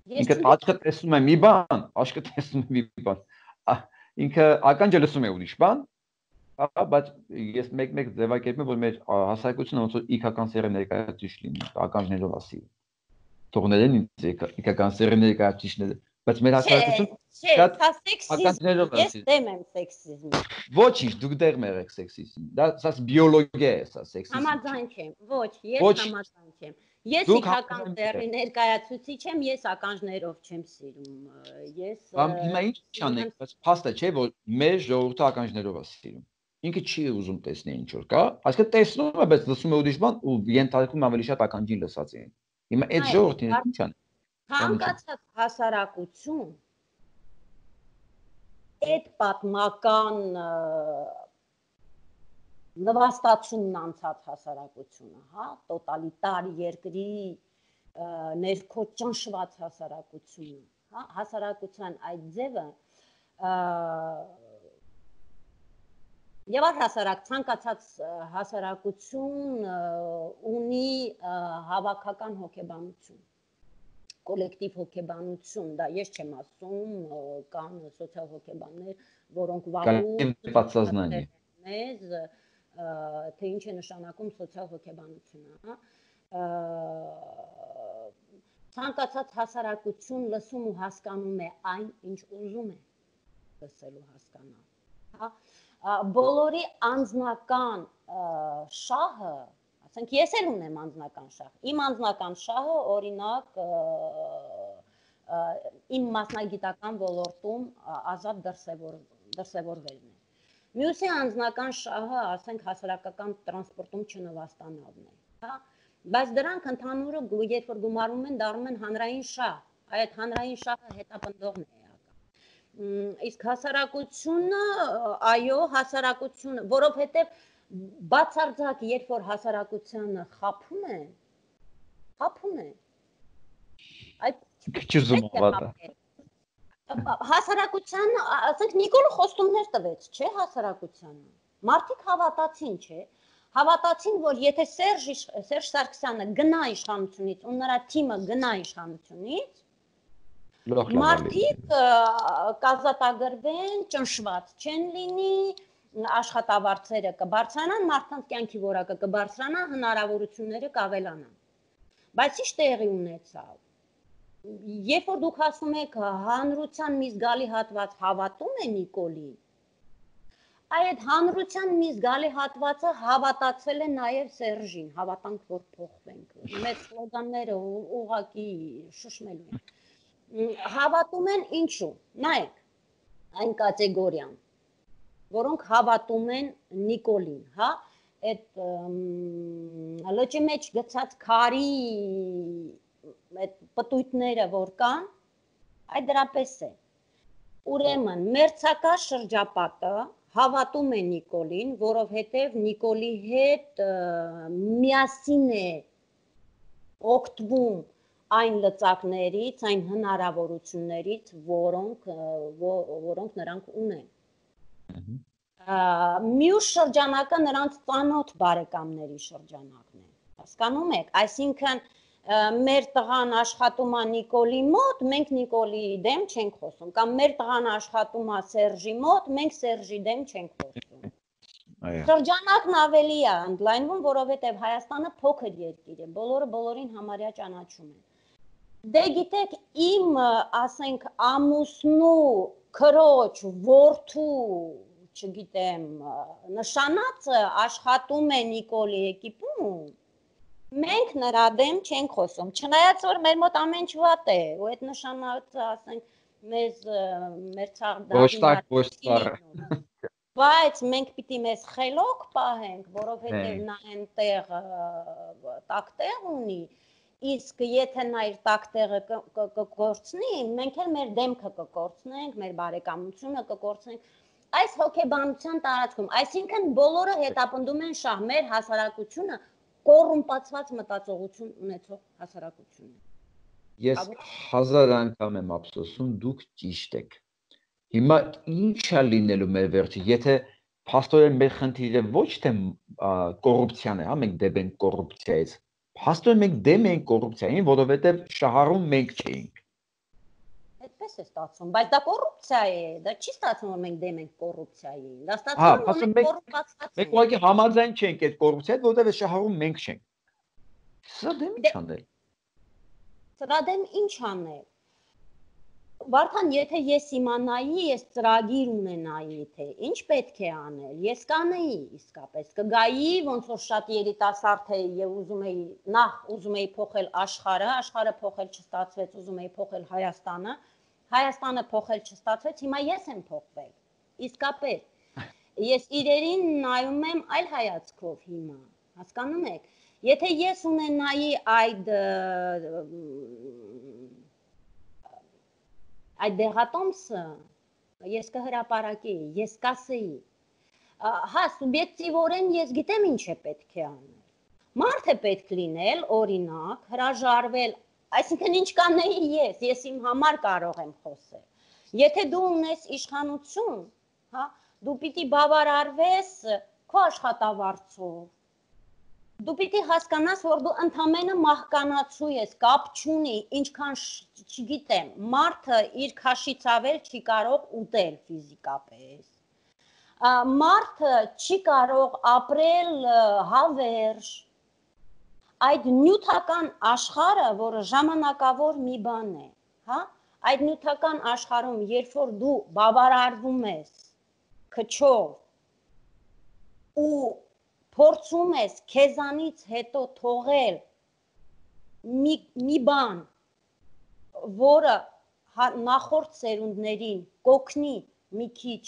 Ինքը աչքը տեսնում է մի բան, աչքը տեսնում է մի բան։ Ինքը ականջը լսում է ուրիշ բան, բայց ես մեկ ձևակերպում եմ, որ մեր հասարակությունը ոնց որ իքական սերի ներկայացուցիչ լինի, ականջներով ասի։ Թողնեն ինձ իքական սերի ներկայացուցիչները, բայց մեր հասարակությունը ականջներով ասի։ Ես դեմ եմ սեքսիզմի։ Ոչինչ, դուք դեմ եք սեքսիզմի։ Դա բիոլոգիա է, սա սեքսիզմ։ Համաձայն չեմ, ոչ, ես համաձայն չեմ։ Ես իքական սերի ներկայացուցիչ եմ, ես ականջներով չեմ սիրում։ Ես Հիմա ինչ անենք, բայց փաստը չէ, որ մեր ժողովուրդը ականջներով է սիրում։ Ինքը չի ուզում տեսնել ինչ որ կա, այսինքն տեսնում է, բայց լսում է ուրիշ բան ու ենթարկում ավելի շատ ականջին լսածին։ Հիմա այդ ժողովուրդին ինչ անենք։ Ցանկացած հասարակություն այդ պատմական նվաստացումն անցած հասարակությունը, հա, տոտալիտար երկրի ներքո ճնշված հասարակությունը, հա, հասարակության այդ ձևը եւ առհասարակ ցանկացած հասարակություն ունի հավաքական հոգեբանություն, կոլեկտիվ հոգեբանություն, դա ես չեմ ասում, կան սոցիալ հոգեբաններ, որոնք վաղուց մեզ թե ինչ է նշանակում սոցիալ հոգեբանությունը, ցանկացած հասարակություն լսում ու հասկանում է այն, ինչ ուզում է լսելու հասկանալ, հա, բոլորի անձնական շահը, ասենք ես էլ ունեմ անձնական շահ, իմ անձնական շահը օրինակ իմ մասնագիտական ոլորտում ազատ դրսևորվելն է։ Մյուսի անձնական շահը, ասենք, հասարակական տրանսպորտում չնվաստանալն է, հա, բայց դրանք ընդհանուրը, երբ որ գումարում են, դառնում են հանրային շահ, այդ հանրային շահը հետապնդողն է էական։ Իսկ հասարակությունը, այո, հասարակությունը, որովհետև բացարձակ, երբ որ հասարակությանը խաբում է, այդ հասարակության, ասենք Նիկոլը խոստումներ տվեց, չէ, հասարակությանը։ Մարդիկ հավատացին, չէ։ Հավատացին, որ եթե Սերժ Սարգսյանը գնա իշխանությունից ու նրա թիմը գնա իշխանությունից, մարդիկ կազատագրվեն, ճնշված չեն լինի, աշխատավարձերը կբարձրանան, մարդկանց կյանքի որակը կբարձրանա, հնարավորությունները կավելանան։ Բայց ինչ տեղի ունեցավ։ Երբ որ դուք ասում եք հանրության մի զգալի հատված հավատում է Նիկոլին, այդ հանրության մի զգալի հատվածը հավատացել է նաև Սերժին, հավատանք, որ փոխվենք, մեր սլոգանները ուղղակի շշմելու են, հավատում են ինչու, նայեք, այն կատեգորիան, որոնք հավատում են Նիկոլին, հա, այդ լճի մեջ գցած քարի այդ պտույտները, որ կան, այդ դրապես է։ Ուրեմն, մերձակա շրջապատը հավատում է Նիկոլին, որովհետև Նիկոլի հետ միասին է օգտվում այն լծակներից, այն հնարավորություններից, որոնք նրանք ունեն։ Մյուս շրջանակը նրանց ծանոթ բարեկամների շրջանակն է, հասկանում եք, այսինքն մեր տղան աշխատում է Նիկոլի մոտ, մենք Նիկոլի դեմ չենք խոսում, կամ մեր տղան աշխատում է Սերժի մոտ, մենք Սերժի դեմ չենք խոսում։ Շրջանակն ավելի է ընդլայնվում, որովհետև Հայաստանը փոքր երկիր է, բոլորը բոլորին համարյա ճանաչում են։ Դե գիտեք, իմ, ասենք, ամուսնու, քրոջ, որդու, չգիտեմ, նշանածը աշխատում է Նիկոլի էկիպում, Մենք նրա դեմ չենք խոսում, չնայած որ մեր մոտ ամեն ինչ վատ է, ու այդ նշանակը, ասենք, մեր ցաղդաղի բայց մենք պիտի մեզ խելոք պահենք, որովհետև նա այնտեղ տակտեղ ունի, իսկ եթե նա իր տակտեղը կկորցնի, մենք էլ մեր դեմքը կկորցնենք, մեր բարեկամությունը կկորցնենք այս հոգեբանության տարածքում, այսինքն բոլորը հետապնդում են շահ, մեր հասարակությունը կոռումպացված մտածողություն ունեցող հասարակություն է։ Ես 1000 անգամ եմ ափսոսում, դուք ճիշտ եք։ Հիմա ինչ է լինելու մեր վերջը, եթե փաստորեն մեր խնդիրը ոչ թե կոռուպցիան է, հա, մենք դեմ ենք կոռուպցիայից։ Փաստորեն մենք դեմ ենք կոռուպցիային, որովհետև շահառում մենք չէինք։ Այդպես է ստացվում, բայց դա կոռուպցիա է, դա չի ստացվում, որ մենք դեմ ենք կոռուպցիային։ Դա ստացվում է, որ մենք կոռուպացված ենք։ Մենք ուղղակի համաձայն չենք այդ կոռուպցիայից, որովհետև շահառում մենք չենք։ Սա դեմ ինչ անել։ Սրա դեմ ինչ անել։ Վարդան, եթե ես իմանայի, ես ծրագիր ունենայի, թե ինչ պետք է անել, ես կանեի իսկապես, կգայի, ոնց որ շատ երիտասարդ էի եւ ուզում էի փոխել աշխարհը փոխել չստացվեց, ուզում էի փոխել Հայաստանը փոխել չստացվեց, հիմա ես եմ փոխվել։ Իսկապես։ Ես իրերին նայում եմ այլ հայացքով հիմա, հասկանում եք։ Եթե ես ունենայի այդ դեղատոմսը, ես կհրապարակեի, ես կասեի, հա, սուբյեկտիվորեն ես գիտեմ ինչ է պետք է անել։ Մարդ է պետք լինել, օրինակ, հրաժարվել, այսինքն ինչ կանեի ես իմ համար կարող եմ խոսել։ Եթե դու ունես իշխանություն, հա, դու պիտի բավարարվես քո աշխատավարձով։ Դու պիտի հասկանաս, որ դու ընդամենը մահկանացու ես, կապ չունի, ինչքան չգիտեմ, մարդը իր քաշից ավել չի կարող ուտել ֆիզիկապես։ Մարդը չի կարող ապրել հավերժ։ Այդ նյութական աշխարհը, որը ժամանակավոր մի բան է, հա, այդ նյութական աշխարհում, երբ որ դու բավարարվում ես քչով ու փորձում ես քեզանից հետո թողել մի բան, որը նախորդ սերունդներին կօգնի մի քիչ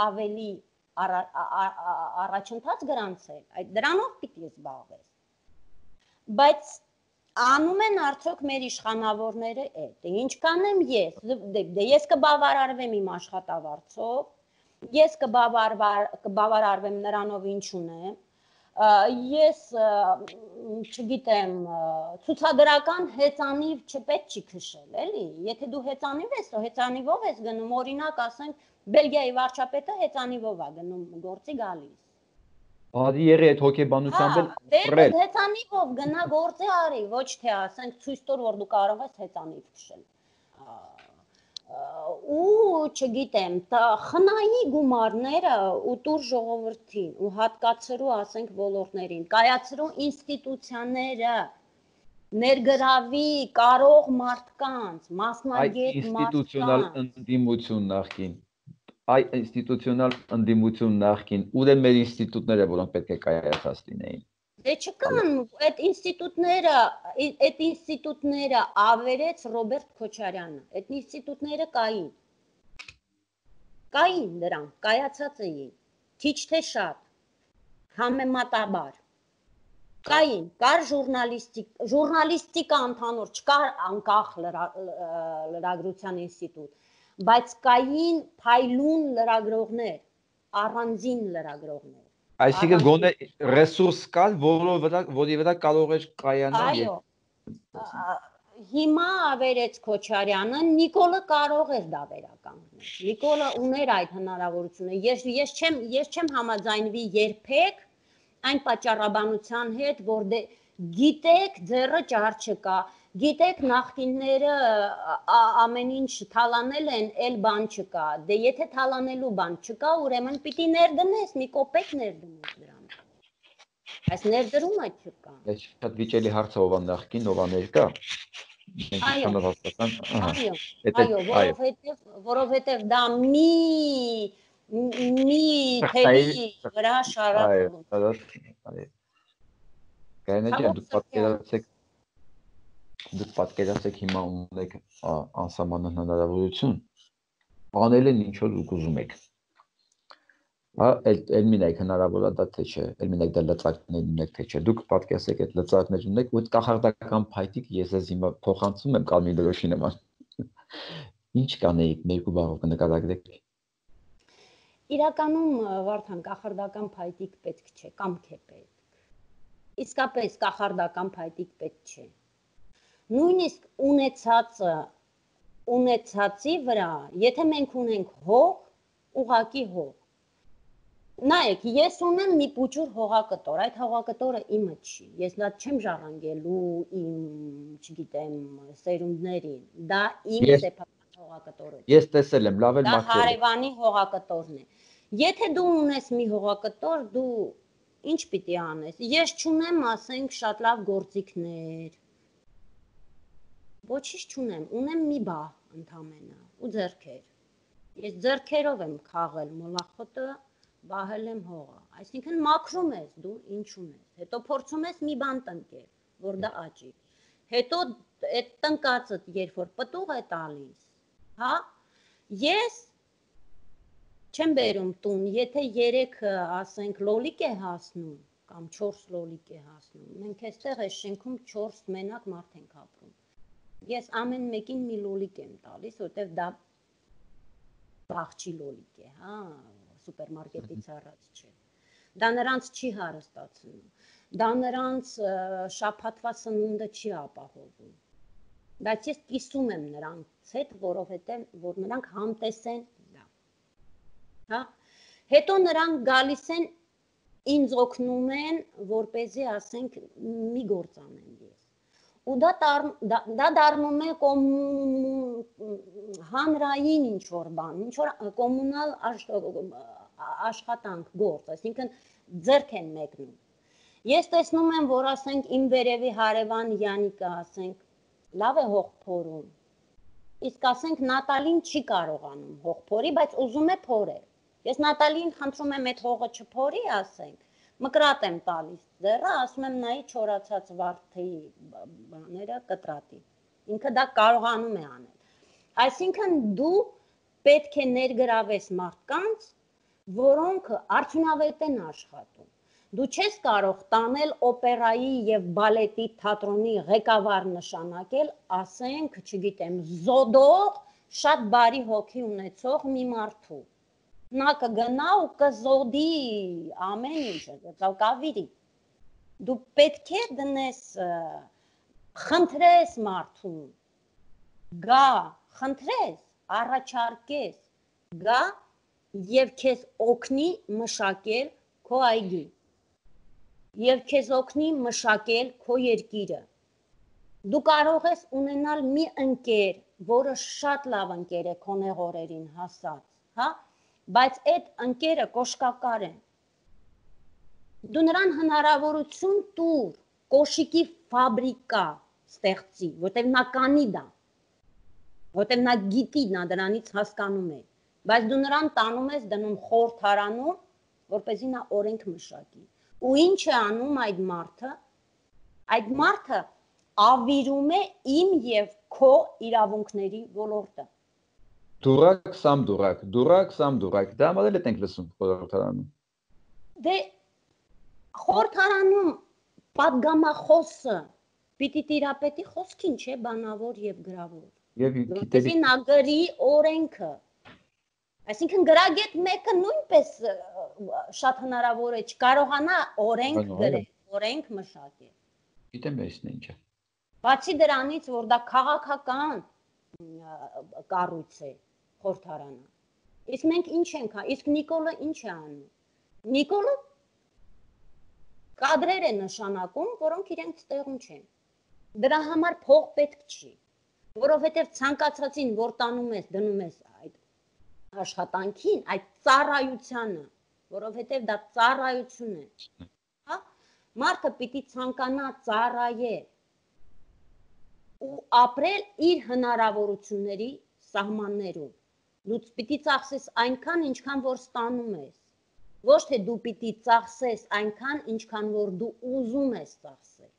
ավելի առաջընթաց գրանցել, դրանով պիտի զբաղվես։ Բայց անում են արդյոք մեր իշխանավորները այդ, ինչ կանեմ ես կբավարարվեմ իմ աշխատավարձով, ես կբավարարվեմ նրանով ինչ ունեմ, ես չգիտեմ, ցուցադրական հեծանիվ չպետք չի քշել, էլի, եթե դու հեծանիվ ես, հեծանիվով ես գնում, օրինակ ասենք, Բելգիայի վարչապետը հեծանիվով է գնում գործի գալիս։ Բադի երի այդ հոգեբանությամբ էլ հեծանիվով գնա գործի արի, ոչ թե ասենք ցույց տոր, որ դու կարող ես հեծանիվ քշել։ Ու չգիտեմ, խնայի գումարները ու տուր ժողովրդին ու հատկացրու, ասենք, ոլորտներին, կայացրու ինստիտուցիաները, ներգրավի կարող մարդկանց, մասնագետ մարդկանց։ Այդ ինստիտուցիոնալ ընդդիմություն նախքին, ուր են մեր ինստիտուտները, որոնք պետք է կայացած լինեին։ Դե չկան, այդ ինստիտուտները ավերեց Ռոբերտ Քոչարյանը, այդ ինստիտուտները կային դրանք, կայացած էին, քիչ թե շատ, համեմատաբար, կային, կար ժուրնալիստիկա ընդհանուր, չկար անկախ լրագրության ինստիտուտ, բայց կային փայլուն լրագրողներ, առանձին լրագրողներ։ Այսինքն գոնե ռեսուրս կար, որի վրա կարող էր կայանալ։ Այո, հիմա ավերեց Քոչարյանը, Նիկոլը կարող էր դա վերականգնել։ Նիկոլը ուներ այդ հնարավորությունը։ Ես չեմ համաձայնվի երբեք այն պատճառաբանության հետ, որ գիտեք, ձեռը ճար չկա, գիտեք նախկինները ամեն ինչ թալանել են, էլ բան չկա, դե եթե թալանելու բան չկա, ուրեմն պիտի ներդնես, մի կոպեկ ներդնես դրան, այս ներդրումը չկա։ Շատ վիճելի հարց է, ով նախկին, ով ներկա։ Այո, որովհետև դա մի թելի վրա շարածում։ Գայանե ջան, դուք պատկերացեք հիմա ունեք անսահման հնարավորություն անել են ինչ որ դուք ուզում եք։ Հա, էլ մինեք հնարավոր է դա թե չէ, էլ մինեք դա լծակներ ունեք թե չէ։ Դուք պատկերացեք այդ լծակներ ունեք ու այդ կախարդական փայտիկ ես ես հիմա փոխանցում եմ Կարմիր դրոշի նման։ Ինչ կանեիք, երկու բառով կնկարագրեք։ Իրականում Վարդան կախարդական փայտիկ պետք չէ, կամք է պետք։ Իսկապես կախարդական փայտիկ պետք չէ։ Նույնիսկ ունեցածի վրա, եթե մենք ունենք հող, ուղակի հող։ Նայեք, ես ունեմ մի փուչուր հողակտոր, այդ հողակտորը իմը չի։ Ես դա չեմ ժառանգելու իմ, չգիտեմ, սերունդներին։ Դա իմ սեփական հողակտորը չէ։ Ես տեսել եմ, լավ էլ Դա մաքրել։ հարևանի հողակտորն է։ Եթե դու ունես մի հողակտոր, դու ինչ պիտի անես։ Ես չունեմ, ասենք, շատ լավ գործիքներ։ Ոչինչ չունեմ, ունեմ մի բահ ընդամենը ու ձեռքեր։ Ես ձեռքերով եմ քաղել մոլախոտը, բահել եմ հողը։ Այսինքն մաքրում ես դու ինչ ունես։ Հետո փորձում ես մի բան տնկել, որ դա աճի։ Հետո այդ տնկածը երբ որ պտուղ է տալիս, հա, ես չեմ բերում տուն, եթե 3 ասենք լոլիկ է հասնում կամ 4 լոլիկ է հասնում, մենք այստեղ այս շենքում 4 մենակ մարդ ենք ապրում։ Ես ամեն մեկին մի լոլիկ եմ տալիս, որտեղ դա բաղջի լոլիկ է, հա, սուպերմարկետից առած չէ։ Դա նրանց չի հարստացնում, դա նրանց շաբաթվա սնունդը չի ապահովում։ Բայց ես կիսում եմ նրանց հետ, որովհետև որ նրանք համտեսեն դա։ Հա, հետո նրանք գալիս են ինձ օգնում են, որպեսզի ասենք մի գործ անեմ ես։ Ու դա դառնում է հանրային ինչ որ բան, ինչ որ կոմունալ աշխատանք գործ, այսինքն ձեռք են մեկնում։ Ես տեսնում եմ, որ ասենք իմ վերևի հարևան Յանիկը, ասենք, լավ է հող փորում։ Իսկ ասենք Նատալին չի կարողանում հող փորի, բայց ուզում է փորել։ Ես Նատալին խնդրում եմ այդ հողը չփորի, ասենք, մկրատ եմ տալիս ձեռը, ասում եմ նայի չորացած վարդի բաները կտրատի։ Ինքը դա կարողանում է անել։ Այսինքն դու պետք է ներգրավես մարդկանց, որոնք արդյունավետ են աշխատում։ Դու չես կարող տանել օպերայի եւ բալետի թատրոնի ղեկավար նշանակել, ասենք, չգիտեմ, զոդող, շատ բարի հոգի ունեցող մի մարդու։ Նա կգնա ու կզոդի ամեն ինչ, կավիրի։ Դու պետք է դնես, խնդրես մարդուն, գա, խնդրես, առաջարկես, գա եւ քեզ օգնի մշակել քո այգի։ Եվ քեզ օգնի մշակել քո երկիրը։ Դու կարող ես ունենալ մի ընկեր, որը շատ լավ ընկեր է քո նեղորերին հասած, հա, բայց այդ ընկերը կոշկակար է։ Դու նրան հնարավորություն տուր, կոշիկի ֆաբրիկա ստեղծի, որտեղ նա կանի դա, որտեղ նա գիտի, նա դրանից հասկանում է, բայց դու նրան տանում ես դնում խորհրդարանում, որպեսզի նա օրենք մշակի։ Ու ինչ է անում այդ մարդը։ Այդ մարդը ավիրում է իմ եւ քո իրավունքների ոլորտը։ Դուրակ, սամ դուրակ, դուրակ, սամ դուրակ, դա համար էլ ենք լսում խորհրդարանում։ Դե խորհրդարանում պատգամախոսը պիտի տիրապետի խոսքին, չէ, բանավոր եւ գրավոր։ Եվ գիտելի նա գրի օրենքը։ Այսինքն գրագետ մեկը նույնպես շատ հնարավոր է չկարողանա օրենք գրել, օրենք մշակել։ Գիտեմ էսն ինչ է։ Բացի դրանից, որ դա քաղաքական կառույց է խորհրդարանը։ Իսկ մենք ինչ ենք, իսկ Նիկոլը ինչ է անում։ Նիկոլը կադրեր է նշանակում, որոնք իրենք տեղում չեն։ Դրա համար փող պետք չի, որովհետև ցանկացածին, որ տանում ես, դնում ես այդ աշխատանքին, այդ ծառայությանը, որովհետև դա ծառայություն է, հա, մարդը պիտի ցանկանա ծառայել ու ապրել իր հնարավորությունների սահմաններում։ Դու պիտի ծախսես այնքան, ինչքան որ ստանում ես։ Ոչ թե դու պիտի ծախսես այնքան, ինչքան որ դու ուզում ես ծախսել։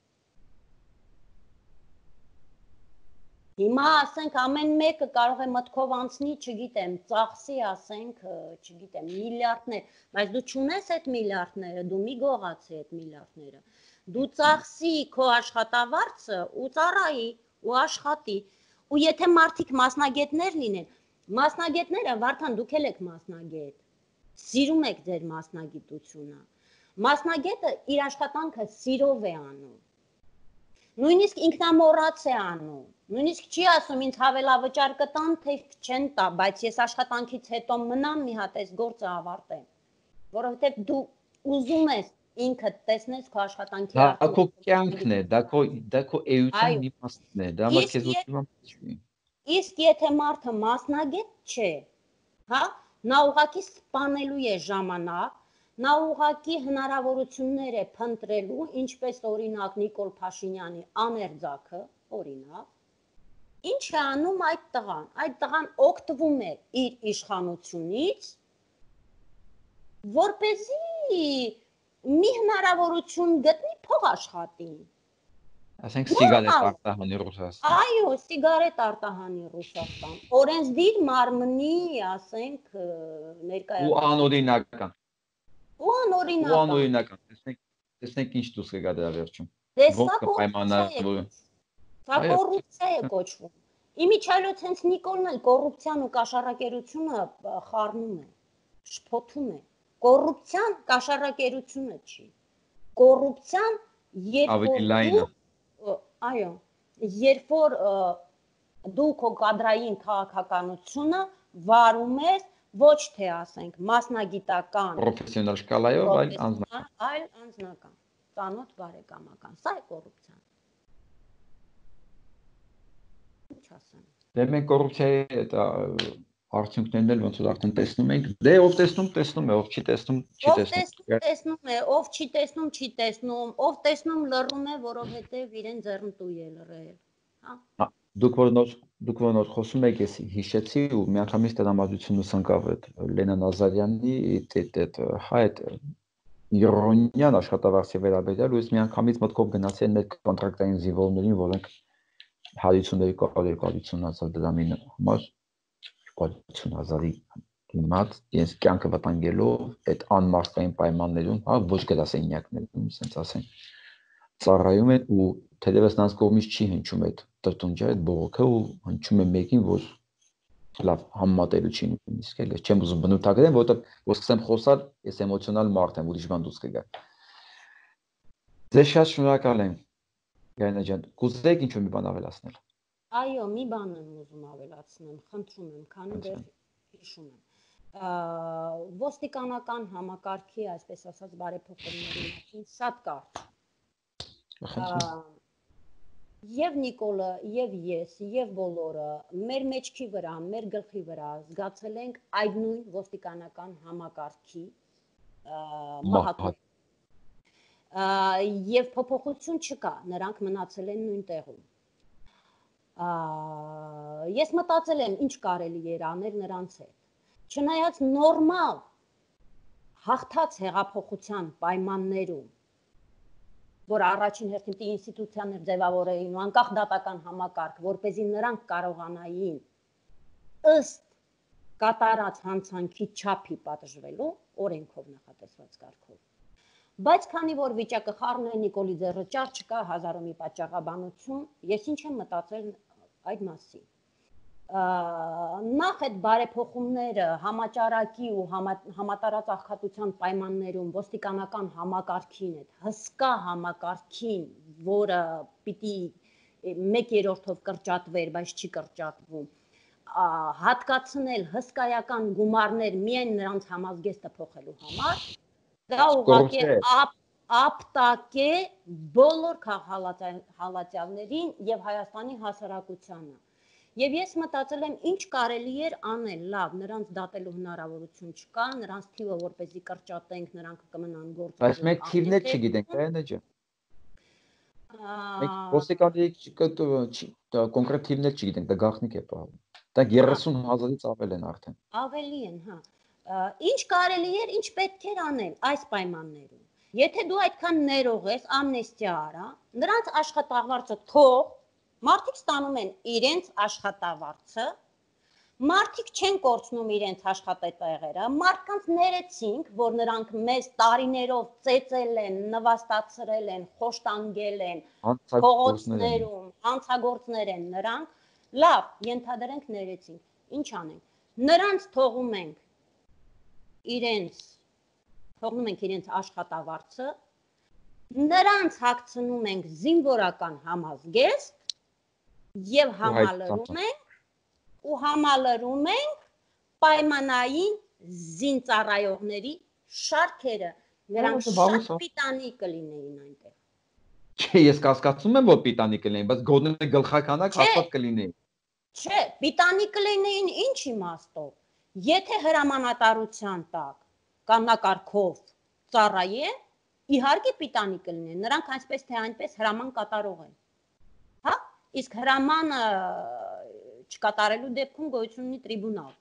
Հիմա ասենք ամեն մեկը կարող է մտքով անցնի, չգիտեմ, ծախսի, ասենք, չգիտեմ, միլիարդներ, բայց դու չունես այդ միլիարդները, դու մի գողացի այդ միլիարդները։ Դու ծախսի քո աշխատավարձը ու ծառայի ու աշխատի։ Ու եթե մարդիկ մասնագետներ լինեն, մասնագետները, Վարդան, դուք էլ եք մասնագետ։ Սիրում եք ձեր մասնագիտությունը։ Մասնագետը իր աշխատանքը սիրով է անում։ Նույնիսկ ինքնամոռաց է անում։ Նույնիսկ չի ասում ինձ հավելավճար կտան, թե չեն տա, բայց ես աշխատանքից հետո մնամ մի հատ այս գործը ավարտեմ, որովհետև դու ուզում ես ինքդ տեսնես քո աշխատանքի Դա քո կյանքն է, դա քո էության մի մասն է, դա համար քեզ ոչինչ չի։ Իսկ եթե մարդը մասնագետ չէ, հա, նա ուղղակի սպանելու է ժամանակ, նա ուղղակի հնարավորություններ է փնտրելու, ինչպես օրինակ Նիկոլ Փաշինյանի աներձակը, օրինակ, ինչ է անում այդ տղան օգտվում է իր իշխանությունից, որպեսզի մի հնարավորություն գտնի փող աշխատի։ Ասենք սիգարետ արտահանի Ռուսաստան։ Այո, սիգարետ արտահանի Ռուսաստան։ Օրենսդիր մարմնի, ասենք, ներկայացնում։ Ու անօրինական։ Ու անօրինական։ Տեսնենք ինչ դուրս կգա դրա վերջում։ Դե սա կոռուպցիա է կոչվում։ Իմիջիայլոց հենց Նիկոլն էլ կոռուպցիան ու կաշառակերությունը խառնում է, շփոթում է։ Կոռուպցիան կաշառակերությունը չի։ Կոռուպցիան երբ որ դու քո կադրային քաղաքականությունը վարում ես ոչ թե ասենք մասնագիտական պրոֆեսիոնալ շկալայով, այլ անձնական, ծանոթ բարեկամական, սա է կոռուպցիան։ Ինչ ասեմ։ Դե մենք կոռուպցիայի այդ արդյունքներն էլ ոնց որ արդեն տեսնում ենք, դե ով տեսնում է, ով չի տեսնում, չի տեսնում։ Ով տեսնում է, ով չի տեսնում, չի տեսնում, ով տեսնում լռում է, որովհետև իրեն ձեռնտու է լռել, հա։ Դուք որ նոր խոսում եք, ես հիշեցի ու միանգամից տրամադրությունս ընկավ այդ Լենան Ազարյանի այդ իրոնիան աշխատավարձի վերաբերյալ ու ես միանգամից մտքով գնացի այն այդ կոնտրակտային զինվորներին, որոնք հարությունների կոալիցիոն դրամի համար 50,000-ի դիմաց իրենց կյանքը վտանգելով այդ անմարդկային պայմաններում, հա, ոչ գրասենյակներում, ասենց ասենք, ծառայում են ու թերևս նրանց կողմից չի հնչում այդ տրտունջը, այդ բողոքը ու հնչում է մեկին, որ լավ համեմատելու չի նույնիսկ էլ, ես չեմ ուզում բնութագրեմ, որովհետև որ սկսեմ խոսալ, ես էմոցիոնալ մարդ եմ, ուրիշ բան դուրս կգա։ Ձեզ շատ շնորհակալ եմ, Գայանե ջան, կուզեք ինչ-որ մի բան ավելացնել։ Այո, մի բան եմ ուզում ավելացնեմ, խնդրում եմ, քանի դեռ հիշում եմ։ Ոստիկանական համակարգի, այսպես ասած, բարեփոխումների մասին շատ կարճ։ Եվ Նիկոլը, եւ ես, եւ բոլորը մեր մեջքի վրա, մեր գլխի վրա զգացել ենք այդ նույն ոստիկանական համակարգի մահակով։ Եվ փոփոխություն չկա, նրանք մնացել են նույն տեղում։ Ես մտածել եմ, ինչ կարելի էր անել նրանց հետ։ Չնայած նորմալ հաղթած հեղափոխության պայմաններում, որ առաջին հերթին պիտի ինստիտուցիաներ ձևավորեին ու անկախ դատական համակարգ, որպեսզի նրանք կարողանային ըստ կատարած հանցանքի չափի պատժվելու օրենքով նախատեսված կարգով։ Բայց քանի որ վիճակը խառն է, Նիկոլի ձեռը ճար չկա, հազարը մի պատճառաբանություն, ես ինչ եմ մտածել այդ մասին։ Նախ այդ բարեփոխումները համաճարակի ու համատարած աղքատության պայմաններում ոստիկանական համակարգին, այդ հսկա համակարգին, որը պիտի 1/3-ով կրճատվեր, բայց չի կրճատվում, հատկացնել հսկայական գումարներ միայն նրանց համազգեստը փոխելու համար, դա ուղղակի ապտակ է բոլոր քաղաքահալածյալներին եւ Հայաստանի հասարակությանը։ Եվ ես մտածել եմ, ինչ կարելի էր անել, լավ, նրանց դատելու հնարավորություն չկա, նրանց թիվը որպեսզի կրճատենք, նրանք կմնան գործ։ Բայց մենք թիվներ չգիտենք, Գայանե ջան։ Մենք ոստիկանների կոնկրետ թիվներ չգիտենք, դա գաղտնիք է պահում։ Դա 30,000-ից ավել են արդեն։ Ավելի են, հա։ Ինչ կարելի էր, ինչ պետք էր անել այս պայմաններում։ Եթե դու այդքան ներող ես, ամնեստիա արա, նրանց աշխատավարձը թող, մարդիկ ստանում են իրենց աշխատավարձը, մարդիկ չեն կորցնում իրենց աշխատատեղերը, մարդկանց ներեցինք, որ նրանք մեզ տարիներով ծեծել են, նվաստացրել են, խոշտանգել են, փողոցներում, հանցագործներ են նրանք, լավ, ենթադրենք ներեցինք, ինչ անենք, նրանց թողնում ենք իրենց աշխատավարձը, նրանց հագցնում ենք զինվորական համազգեստ եւ համալրում ենք պայմանային զինծառայողների շարքերը, նրանք շատ պիտանի կլինեին այնտեղ։ Չէ, ես կասկածում եմ, որ պիտանի կլինեին, բայց գոնե գլխականակ հաստատ կլինեին։ Չէ, պիտանի կլինեին ինչ իմաստով։ Եթե հրամանատարության տակ կանոնակարգով ծառայեն, իհարկե պիտանի կլինեն, նրանք այսպես թե այնպես հրաման կատարող են։ Հա, իսկ հրամանը չկատարելու դեպքում գոյություն ունի տրիբունալ։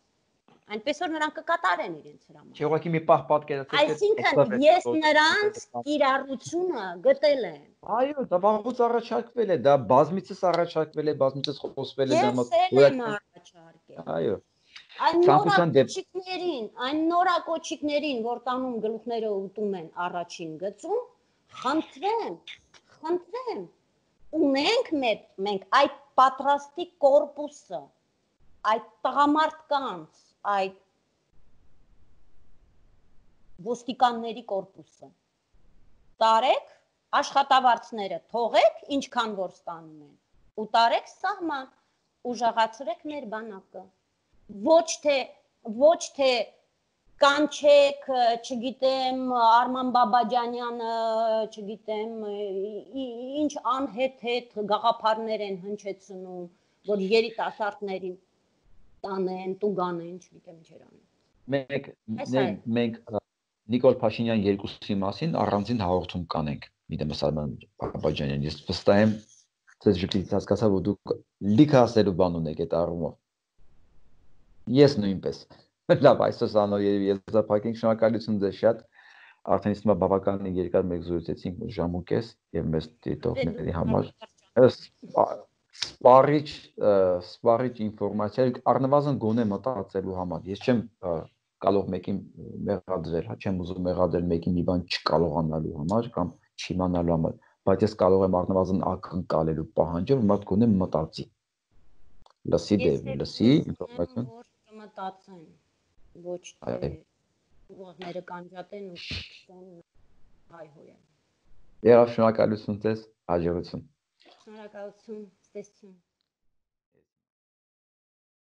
Այնպես որ նրանք կկատարեն իրենց հրամանը։ Չէ, ուղղակի մի պահ պատկերացրեք։ Այսինքն ես նրանց կիրառությունը գտել եմ։ Այո, դա վաղուց առաջարկվել է, դա բազմիցս առաջարկվել է, բազմիցս խոսվել է դա առաջարկել։ Այո։ Այն նորակոչիկներին, որ տանում գլուխները ուտում են առաջին գծում, խնդրեմ, ունենք մենք այդ պատրաստի կորպուսը, այդ տղամարդկանց, այդ ոստիկանների կորպուսը։ Տարեք աշխատավարձները թողեք, ինչքան որ ստանում են, ու տարեք սահման, ուժեղացրեք մեր բանակը։ Ոչ թե կանչեք, չգիտեմ, Արման Բաբաջանյանը, չգիտեմ, ինչ անհետ գաղափարներ են հնչեցնում, որ երիտասարդներին տանեն, տուգանեն, չգիտեմ ինչեր անեն։ Մենք Նիկոլ Փաշինյան երկուսի մասին առանձին հաղորդում կանենք, միտեմս Արման Բաբաջանյան, ես վստահ եմ, ձեզ ժպիտից հասկացա, որ դուք լիքը ասելու բան ունեք այդ առումով։ Ես նույնպես։ Լավ, այսօր սանով եզրափակենք, շնորհակալություն ձեզ շատ, արդեն իսկ բավականին երկար մեկ զրուցեցինք ժամ ու կես եւ մեզ դիտողների համար։ Սպառիչ ինֆորմացիա, առնվազն գոնե մտածելու համար։ Ես չեմ կարող մեկին մեղադրել, չեմ ուզում մեղադրել մեկին մի բան չկարողանալու համար կամ չիմանալու համար, բայց ես կարող եմ առնվազն ակնկալելու պահանջել, որ մարդ գոնե մտածի։ Լսի ինֆորմացիան։ Մտածեն, ոչ թե ուղեղները կանջատեն ու հայհոյեն։ Եվ շնորհակալություն ձեզ, հաջողություն։ Շնորհակալություն, ստեսություն։